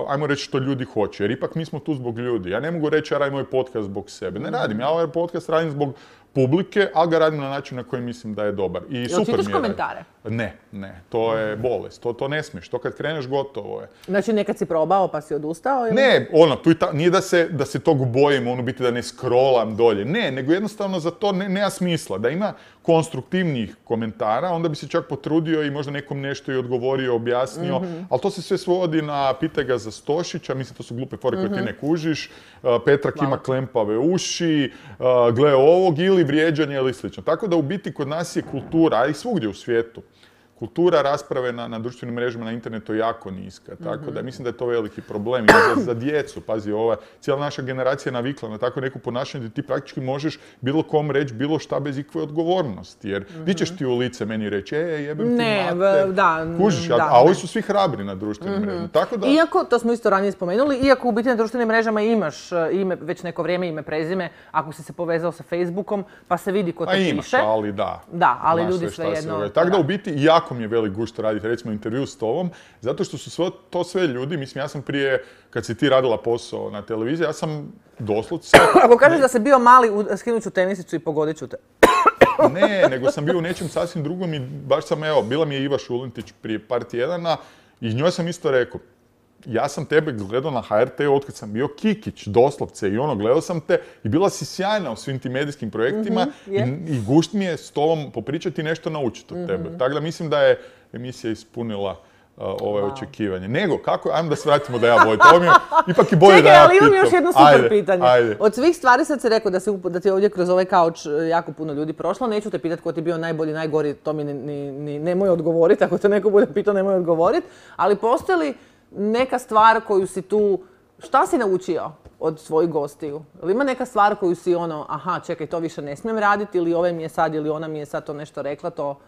ajmo reći što ljudi hoće. Jer ipak mi smo tu zbog ljudi. Ja ne mogu reći ja radim ovaj podcast zbog sebe. Ne radim. Ja ovaj podcast radim zbog publike, ali ga radim na način na koji mislim da je dobar. I super mi je. Čitaš komentare? Ne. To je bolest. To ne smiješ. To kad kreneš, gotovo je. Znači nekad si probao pa si odustao? Ili? Ne, nije da se tog bojim, biti da ne scrollam dolje. Ne, nego jednostavno za to nema smisla. Da ima konstruktivnih komentara, onda bi se čak potrudio i možda nekom nešto i odgovorio, objasnio. Ali to se sve svodi na pitaj ga za Stošića, mislim to su glupe fore koje ti ne kužiš. Petrak ima klempave uši, gle ovog ili vrijeđanje ili slično. Tako da u biti kod nas je kultura, a i svugdje u svijetu, kultura rasprave na društvenim mrežama, na internetu je jako niska. Tako da mislim da je to veliki problem. I za djecu, pazi, cijela naša generacija je navikla na tako neku ponašanje gdje ti praktički možeš bilo kom reći bilo šta bez ikakve odgovornosti. Jer ti ćeš ti u lice meni reći, jebem ti mater. Kužiš, a ovi su svi hrabri na društvenim mrežama. Tako da... Iako, to smo isto ranije spomenuli, iako u biti na društvenim mrežama imaš ime, već neko vrijeme ime, prezime, ako si se povezao sa Facebookom, pa se vidi ko to piše. Imaš, ali da. Da, ali ljudi svejedno... Tako da u biti jako mi je velik gušt raditi, recimo, intervju s tobom, zato što su to sve ljudi, mislim, ja sam prije, kad si ti radila posao na televiziji, ja sam doslovce... Ako kažeš da si bio mali, skinut ću tenisicu i pogodit ću te. Ne, nego sam bio u nečem sasvim drugom i baš sam, bila mi je Iva Šulentić prije par tjedana i njoj sam isto rekao, ja sam tebe gledao na HRT-u otkad sam bio Kikić, doslovce, i gledao sam te i bila si sjajna u svim tim medijskim projektima i gušt mi je s tobom popričati i nešto naučiti od tebe. Tako da mislim da je emisija ispunila očekivanje. Nego, kako, ajmo da se vratimo da ja vodim. To mi je ipak i bolje da ja pitam. Ali imam još jedno super pitanje. Od svih stvari sad si rekao da ti ovdje kroz ovaj kauč jako puno ljudi prošlo. Neću te pitati ko ti je bio najbolji, najgori, to mi nemoj odgovoriti. Ako te neko bude pitao, nemoj odgovoriti. Ali postoji li neka stvar koju si tu, šta si naučio od svojih gostiju? Ili ima neka stvar koju si aha, čekaj, to više ne smijem raditi, ili ovaj mi je sad, ili ona mi je sad to nešto rekla, to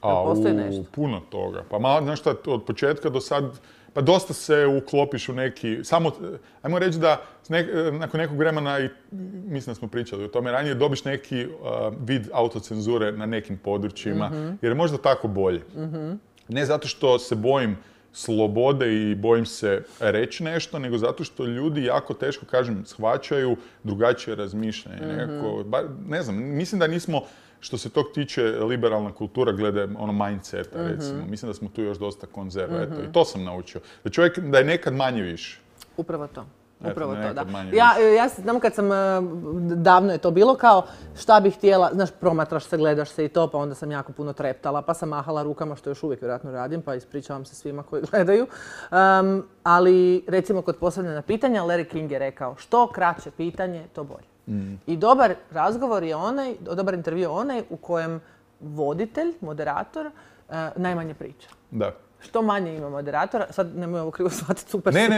postoji nešto? Puno toga. Pa malo, znaš šta, od početka do sad, pa dosta se uklopiš u neki, samo, ajmo reći da nakon nekog vremena, i mislim da smo pričali o tome ranije, dobiš neki vid autocenzure na nekim područjima, jer je možda tako bolje. Ne zato što se bojim slobode i bojim se reći nešto, nego zato što ljudi jako teško, kažem, shvaćaju drugačije razmišljanje. Ne znam, mislim da nismo, što se tog tiče, liberalna kultura glede mindseta, recimo. Mislim da smo tu još dosta konzerva. I to sam naučio. Da je nekad manje više. Upravo to. Upravo to, da. Ja znam kad sam, davno je to bilo kao šta bih htjela, znaš, promatraš se, gledaš se i to, pa onda sam jako puno treptala, pa sam mahala rukama, što još uvijek vjerojatno radim, pa ispričavam se svima koji gledaju. Ali, recimo, kod postavljanja pitanja, Larry King je rekao, što kraće pitanje, to bolje. I dobar razgovor je onaj, dobar intervju je onaj u kojem voditelj, moderator, najmanje priča. Da. Što manje ima moderatora, sad nemoj ovo krivo shvatiti, super Ne.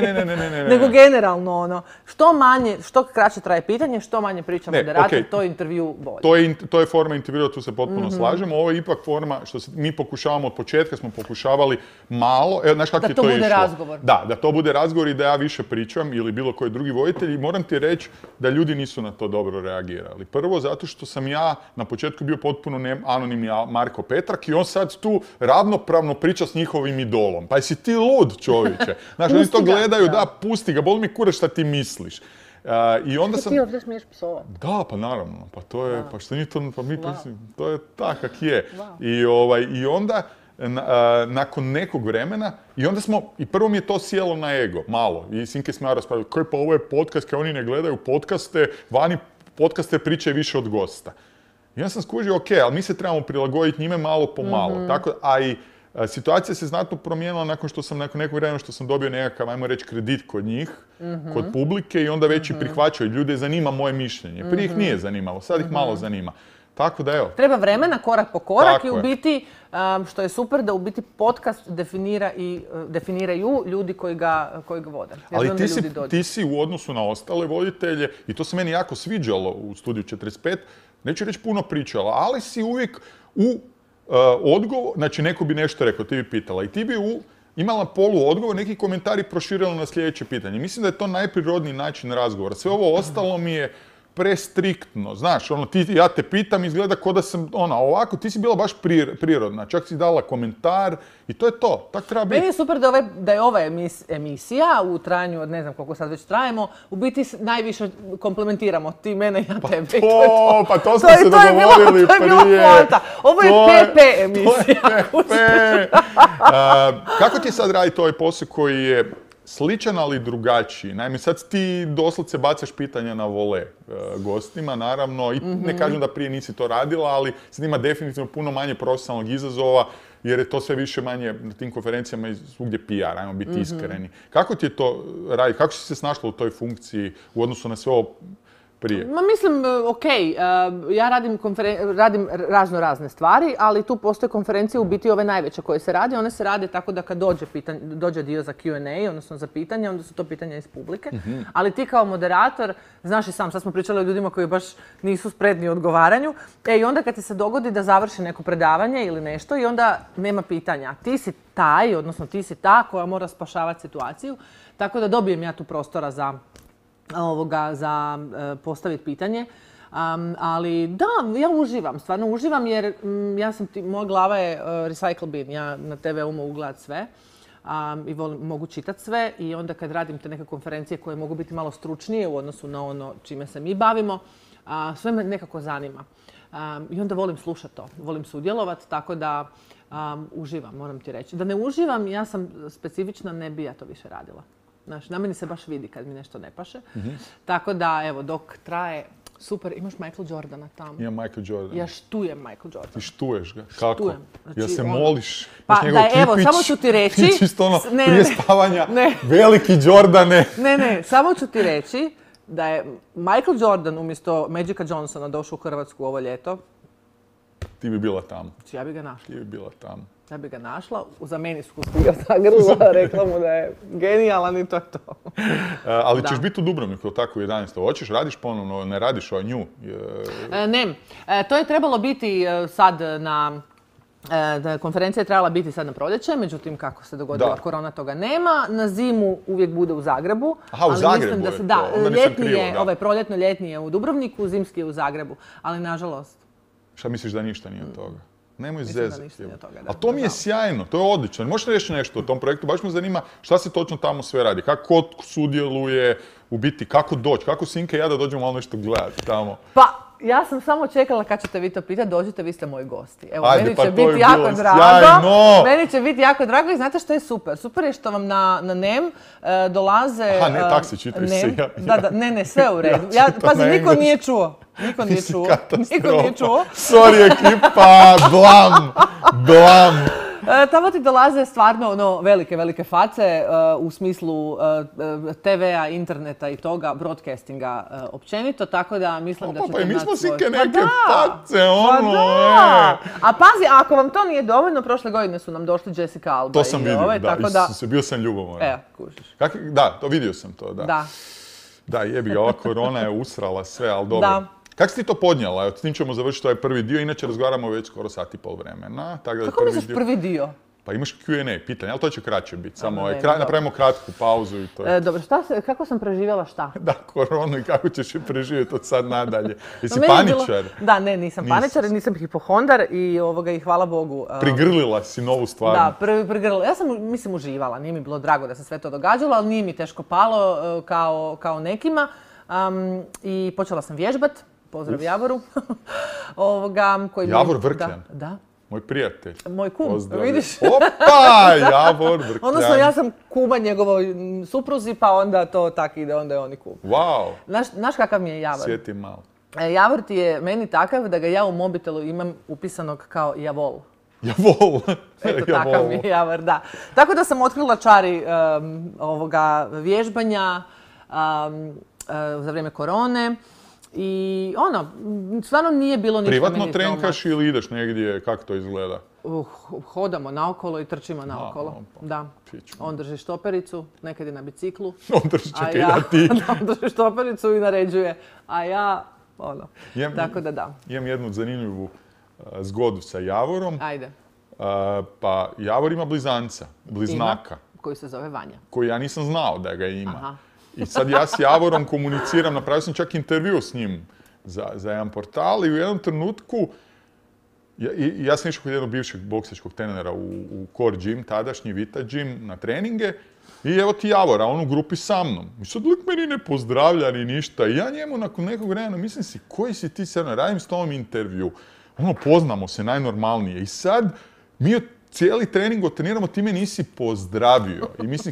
nego generalno što manje, što kraće traje pitanje, što manje priča moderator, to je intervju bolje. To je forma intervjua, tu se potpuno slažemo. Ovo je ipak forma što mi pokušavamo od početka, smo pokušavali malo, znaš kako je to išlo? Da to bude razgovor. Da to bude razgovor i da ja više pričam ili bilo koji drugi voditelj i moram ti reći da ljudi nisu na to dobro reagirali. Prvo zato što sam ja na početku bio potpuno anonimni Marko Petrak i on sad tu ravnopravno priča s njihovim idolom. Pa jesi ti lud, čovječe? Znaš, oni to gledaju, da, pusti ga, boli mi kurac šta ti misliš. I onda sam... Ti ovdje smiješ psovat. Da, pa naravno, pa to je, pa što nije to, pa mi to je tak kak je. I onda, nakon nekog vremena, i prvo mi je to sjelo na ego, malo. I Sinke smo ja raspravili, koji pa ovo je podcast, kao oni ne gledaju podcaste, vani podcaste pričaju više od gosta. I onda sam skužio, ok, ali mi se trebamo prilagoditi njime malo po malo. Tako, a i situacija se znatno promijenila nakon nekog vremena što sam dobio nekakav, ajmo reći, kredit kod njih, kod publike i onda već i prihvaćaju. Ljude zanima moje mišljenje. Prije ih nije zanimalo, sad ih malo zanima. Tako da evo. Treba vremena, korak po korak i u biti, što je super, da u biti podcast definiraju ljudi koji ga vode. Ali ti si u odnosu na ostale voditelje, i to se meni jako sviđalo u Studiju 45, neću reći puno pričala, ali si uvijek u odgovor, znači neko bi nešto rekao, ti bi pitala i ti bi imala poluodgovor, neki komentari proširila na sljedeće pitanje. Mislim da je to najprirodniji način razgovora. Sve ovo ostalo mi je prestriktno, znaš, ja te pitam, izgleda kao da sam, ovako, ti si bila baš prirodna, čak si dala komentar i to je to, tak treba biti. Meni je super da je ova emisija u trajanju od ne znam koliko sad već trajemo, u biti najviše komplementiramo, ti mene i ja tebe. Pa to smo se dogovorili prije. To je bila poanta. Ovo je PP emisija. Kako ti sad raditi ovaj posao koji je sličan, ali drugačiji? Naime, sad ti doslovce bacaš pitanja na vole gostima, naravno, i ne kažem da prije nisi to radila, ali sad ima definitivno puno manje profesionalnog izazova, jer je to sve više manje na tim konferencijama i svugdje PR, ajmo biti iskreni. Kako ti je to raditi? Kako si se snašla u toj funkciji u odnosu na sve ovo prije? Mislim, ja radim razne stvari, ali tu postoje konferencije u biti ove najveće koje se rade. One se rade tako da kad dođe dio za Q&A, odnosno za pitanje, onda su to pitanja iz publike. Ali ti kao moderator, znaš i sam, sad smo pričali o ljudima koji baš nisu spretni u odgovaranju, i onda kad ti se dogodi da završi neko predavanje ili nešto i onda nema pitanja. Ti si taj, odnosno ti si ta koja mora spašavati situaciju, tako da dobijem ja tu prostora za postaviti pitanje. Ali da, ja uživam, stvarno uživam jer moja glava je recycle bin, ja na TV-u mogu gledati sve i mogu čitati sve i onda kad radim te neke konferencije koje mogu biti malo stručnije u odnosu na ono čime se mi bavimo, sve me nekako zanima. I onda volim slušati to, volim sudjelovati, tako da uživam, moram ti reći. Da ne uživam, ja sam specifična, ne bi ja to više radila. Znaš, na meni se baš vidi kad mi nešto ne paše. Tako da, evo, dok traje, super, imaš Michael Jordana tamo. Imam Michael Jordan. Ja štujem Michael Jordan. Ti štuješ ga? Kako? Štujem. Znači, ja se moliš? Pa da, evo, samo ću ti reći... Čisto prije spavanja, veliki Jordane. Ne, samo ću ti reći da je Michael Jordan umjesto Magica Johnsona došao u Hrvatsku ovo ljeto. Ti bi bila tamo. Ja bi ga našla. Ti bi bila tamo. Ja bi ga našla, za meni su ga zagrla, rekla mu da je genijalan i to je to. Ali ćeš biti u Dubrovniku, tako u 11. Hoćeš, radiš ponovno, ne radiš o nju? Ne, to je trebalo biti sad konferencija je trebala biti sad na proljeće, međutim kako se dogodila korona toga nema. Na zimu uvijek bude u Zagrebu. Aha, u Zagrebu je to, onda nisam krivo, da. Proljetno-ljetni je u Dubrovniku, zimski je u Zagrebu, ali nažalost. Šta misliš da ništa nije od toga? Nemoj zezati. A to mi je sjajno, to je odlično. Možeš reći nešto o tom projektu? Baš me zanima šta se točno tamo sve radi. Kako sudjeluje, u biti, kako doći, kako Sinka i ja da dođemo malo nešto gledati tamo. Pa, ja sam samo čekala kad ćete vi to pitati, dođite, vi ste moji gosti. Evo, ajde, meni pa će biti jako drago. Sjajno. Meni će biti jako drago i znate što je super? Super je što vam na NEM dolaze... Aha, ne, taksi čitaš se. Ne, sve u redu. Pazi, niko nije čuo. Niko nije čuo. Sorry ekipa, blam. Tamo ti dolaze stvarno velike face u smislu TV-a, interneta i toga, broadcastinga općenito, tako da mislim da ćete Pa mi smo naći svoj... sike neke Pa face, da! A pazi, ako vam to nije dovoljno, prošle godine su nam došli Jessica Alba To sam i vidio, tako da... Isuse, bio sam ljubomoran. Kužiš. Da, to vidio sam to, da. Da. Da, jebi ga, ova korona je usrala sve, ali dobro. Da. Kako si ti to podnijela? Evo, s tim ćemo završiti ovaj prvi dio, inače razgovaramo već skoro sat i pol vremena. Kako misliš prvi dio? Pa imaš Q&A pitanje, ali to će kraće biti. Samo dobro. napravimo kratku pauzu i to je. Dobro, kako sam preživjela šta? Da, koronu i kako ćeš je preživjeti od sad nadalje. Jesi Meni je paničar? Da, ne, nisam paničar, nisam hipohondar i hvala Bogu. Prigrlila si novu stvar. Da, prigrlila. Ja sam, mislim, uživala. Nije mi bilo drago da se sve to događalo, ali nije mi teško palo kao nekima. I počela sam vježbat. Pozdrav Javoru. Javor Vrkljan? Da. Moj prijatelj. Moj kum, Pozdrav. vidiš? Opa, Javor Vrkljan. Odnosno, ja sam kuma njegovoj supruzi, pa onda to tak ide, onda je on i kum. Wow. Znaš kakav mi je Javor? Sjeti malo. Javor ti je meni takav da ga ja u mobitelu imam upisanog kao Javol. Javol. Eto, takav mi je Javor, da. Tako da sam otkrila čari vježbanja za vrijeme korone. I stvarno nije bilo ništa Privatno meni trenkaš ili ideš negdje, kako to izgleda? Hodamo naokolo i trčimo naokolo. Da. On drži štopericu, nekad je na biciklu. On drži, čekaj, ja ti. On drži štopericu i naređuje. A ja, tako da. Imam jednu zanimljivu zgodu sa Javorom. Ajde. Pa Javor ima bliznaka. Koji se zove Vanja. Koji ja nisam znao da ga ima. Aha. I sad ja s Javorom komuniciram, napravio sam čak intervju s njim za jedan portal i u jednom trenutku ja sam išao kod jednog bivšeg boksačkog trenera u Core Gym, tadašnji Vita Gym, na treninge i evo ti Javora, on u grupi sa mnom. I sad lik meni ne pozdravlja ni ništa i ja njemu nakon nekog vremena mislim si koji si ti sad, radim s tobom intervju. Poznamo se najnormalnije i sad mi cijeli trening otreniramo, ti me nisi pozdravio.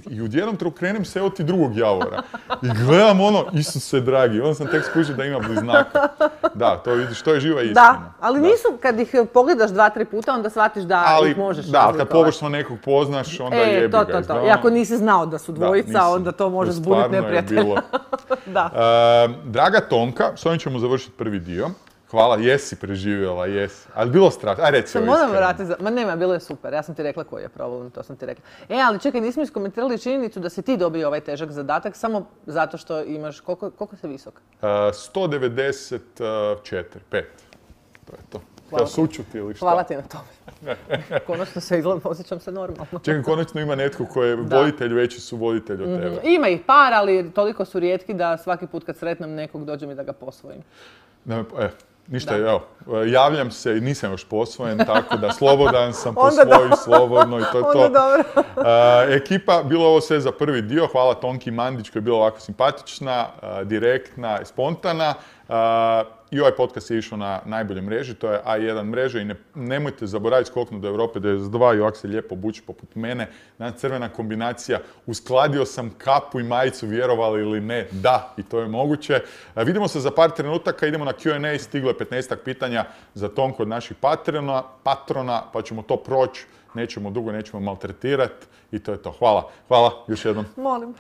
I u jednom trenutku krenem se, evo ti drugog Javora. I gledam Isuse dragi, onda sam tek skužio da ima bliznaka. Da, to vidiš, to je živa istina. Da, ali nisu, kad ih pogledaš 2-3 puta, onda shvatiš da ih možeš razlikovati. Da, kad površno nekog poznaš, onda jebi ga. To. I ako nisi znao da su dvojica, onda to može zbuditi neprijatelja. Draga Tonka, s ovim ćemo završiti prvi dio. Hvala, jesi preživjela, jesi. Ali bilo strašno. Aj, reci ovo iskreno. Moram vratiti, ma nema, bilo je super. Ja sam ti rekla koji je problem, to sam ti rekla. Ali čekaj, nismo iskomentirali činjenicu da si ti dobio ovaj težak zadatak samo zato što imaš, koliko si visok? 194, 5. To je to. Kao sučuti ili šta? Hvala ti na tome. Konačno se osjećam se normalno. Čekaj, konačno ima netko koji je voditelj, veći su voditelj od tebe. Ima ih par, ali toliko su rijetki da svaki put kad sretnem nekog dođe mi da ga posvojim. Ništa, evo, javljam se i nisam još posvojen, tako da slobodan sam, posvoji slobodno i to je to. Onda dobro. Ekipa, bilo ovo sve za prvi dio, hvala Tonki Mandić koja je bila ovako simpatična, direktna, spontana. I ovaj podcast je išao na najbolje mreži, to je A1 mreža i nemojte zaboraviti skoknuti do Europe 92 i ovako se lijepo obući poput mene. Danas crvena kombinacija, uskladio sam kapu i majicu, vjerovali ili ne, da, i to je moguće. Vidimo se za par trenutaka, idemo na Q&A, stiglo je 15 pitanja za Tonku od naših patrona, pa ćemo to proći, nećemo dugo, nećemo maltretirati i to je to. Hvala još jednom. Molim.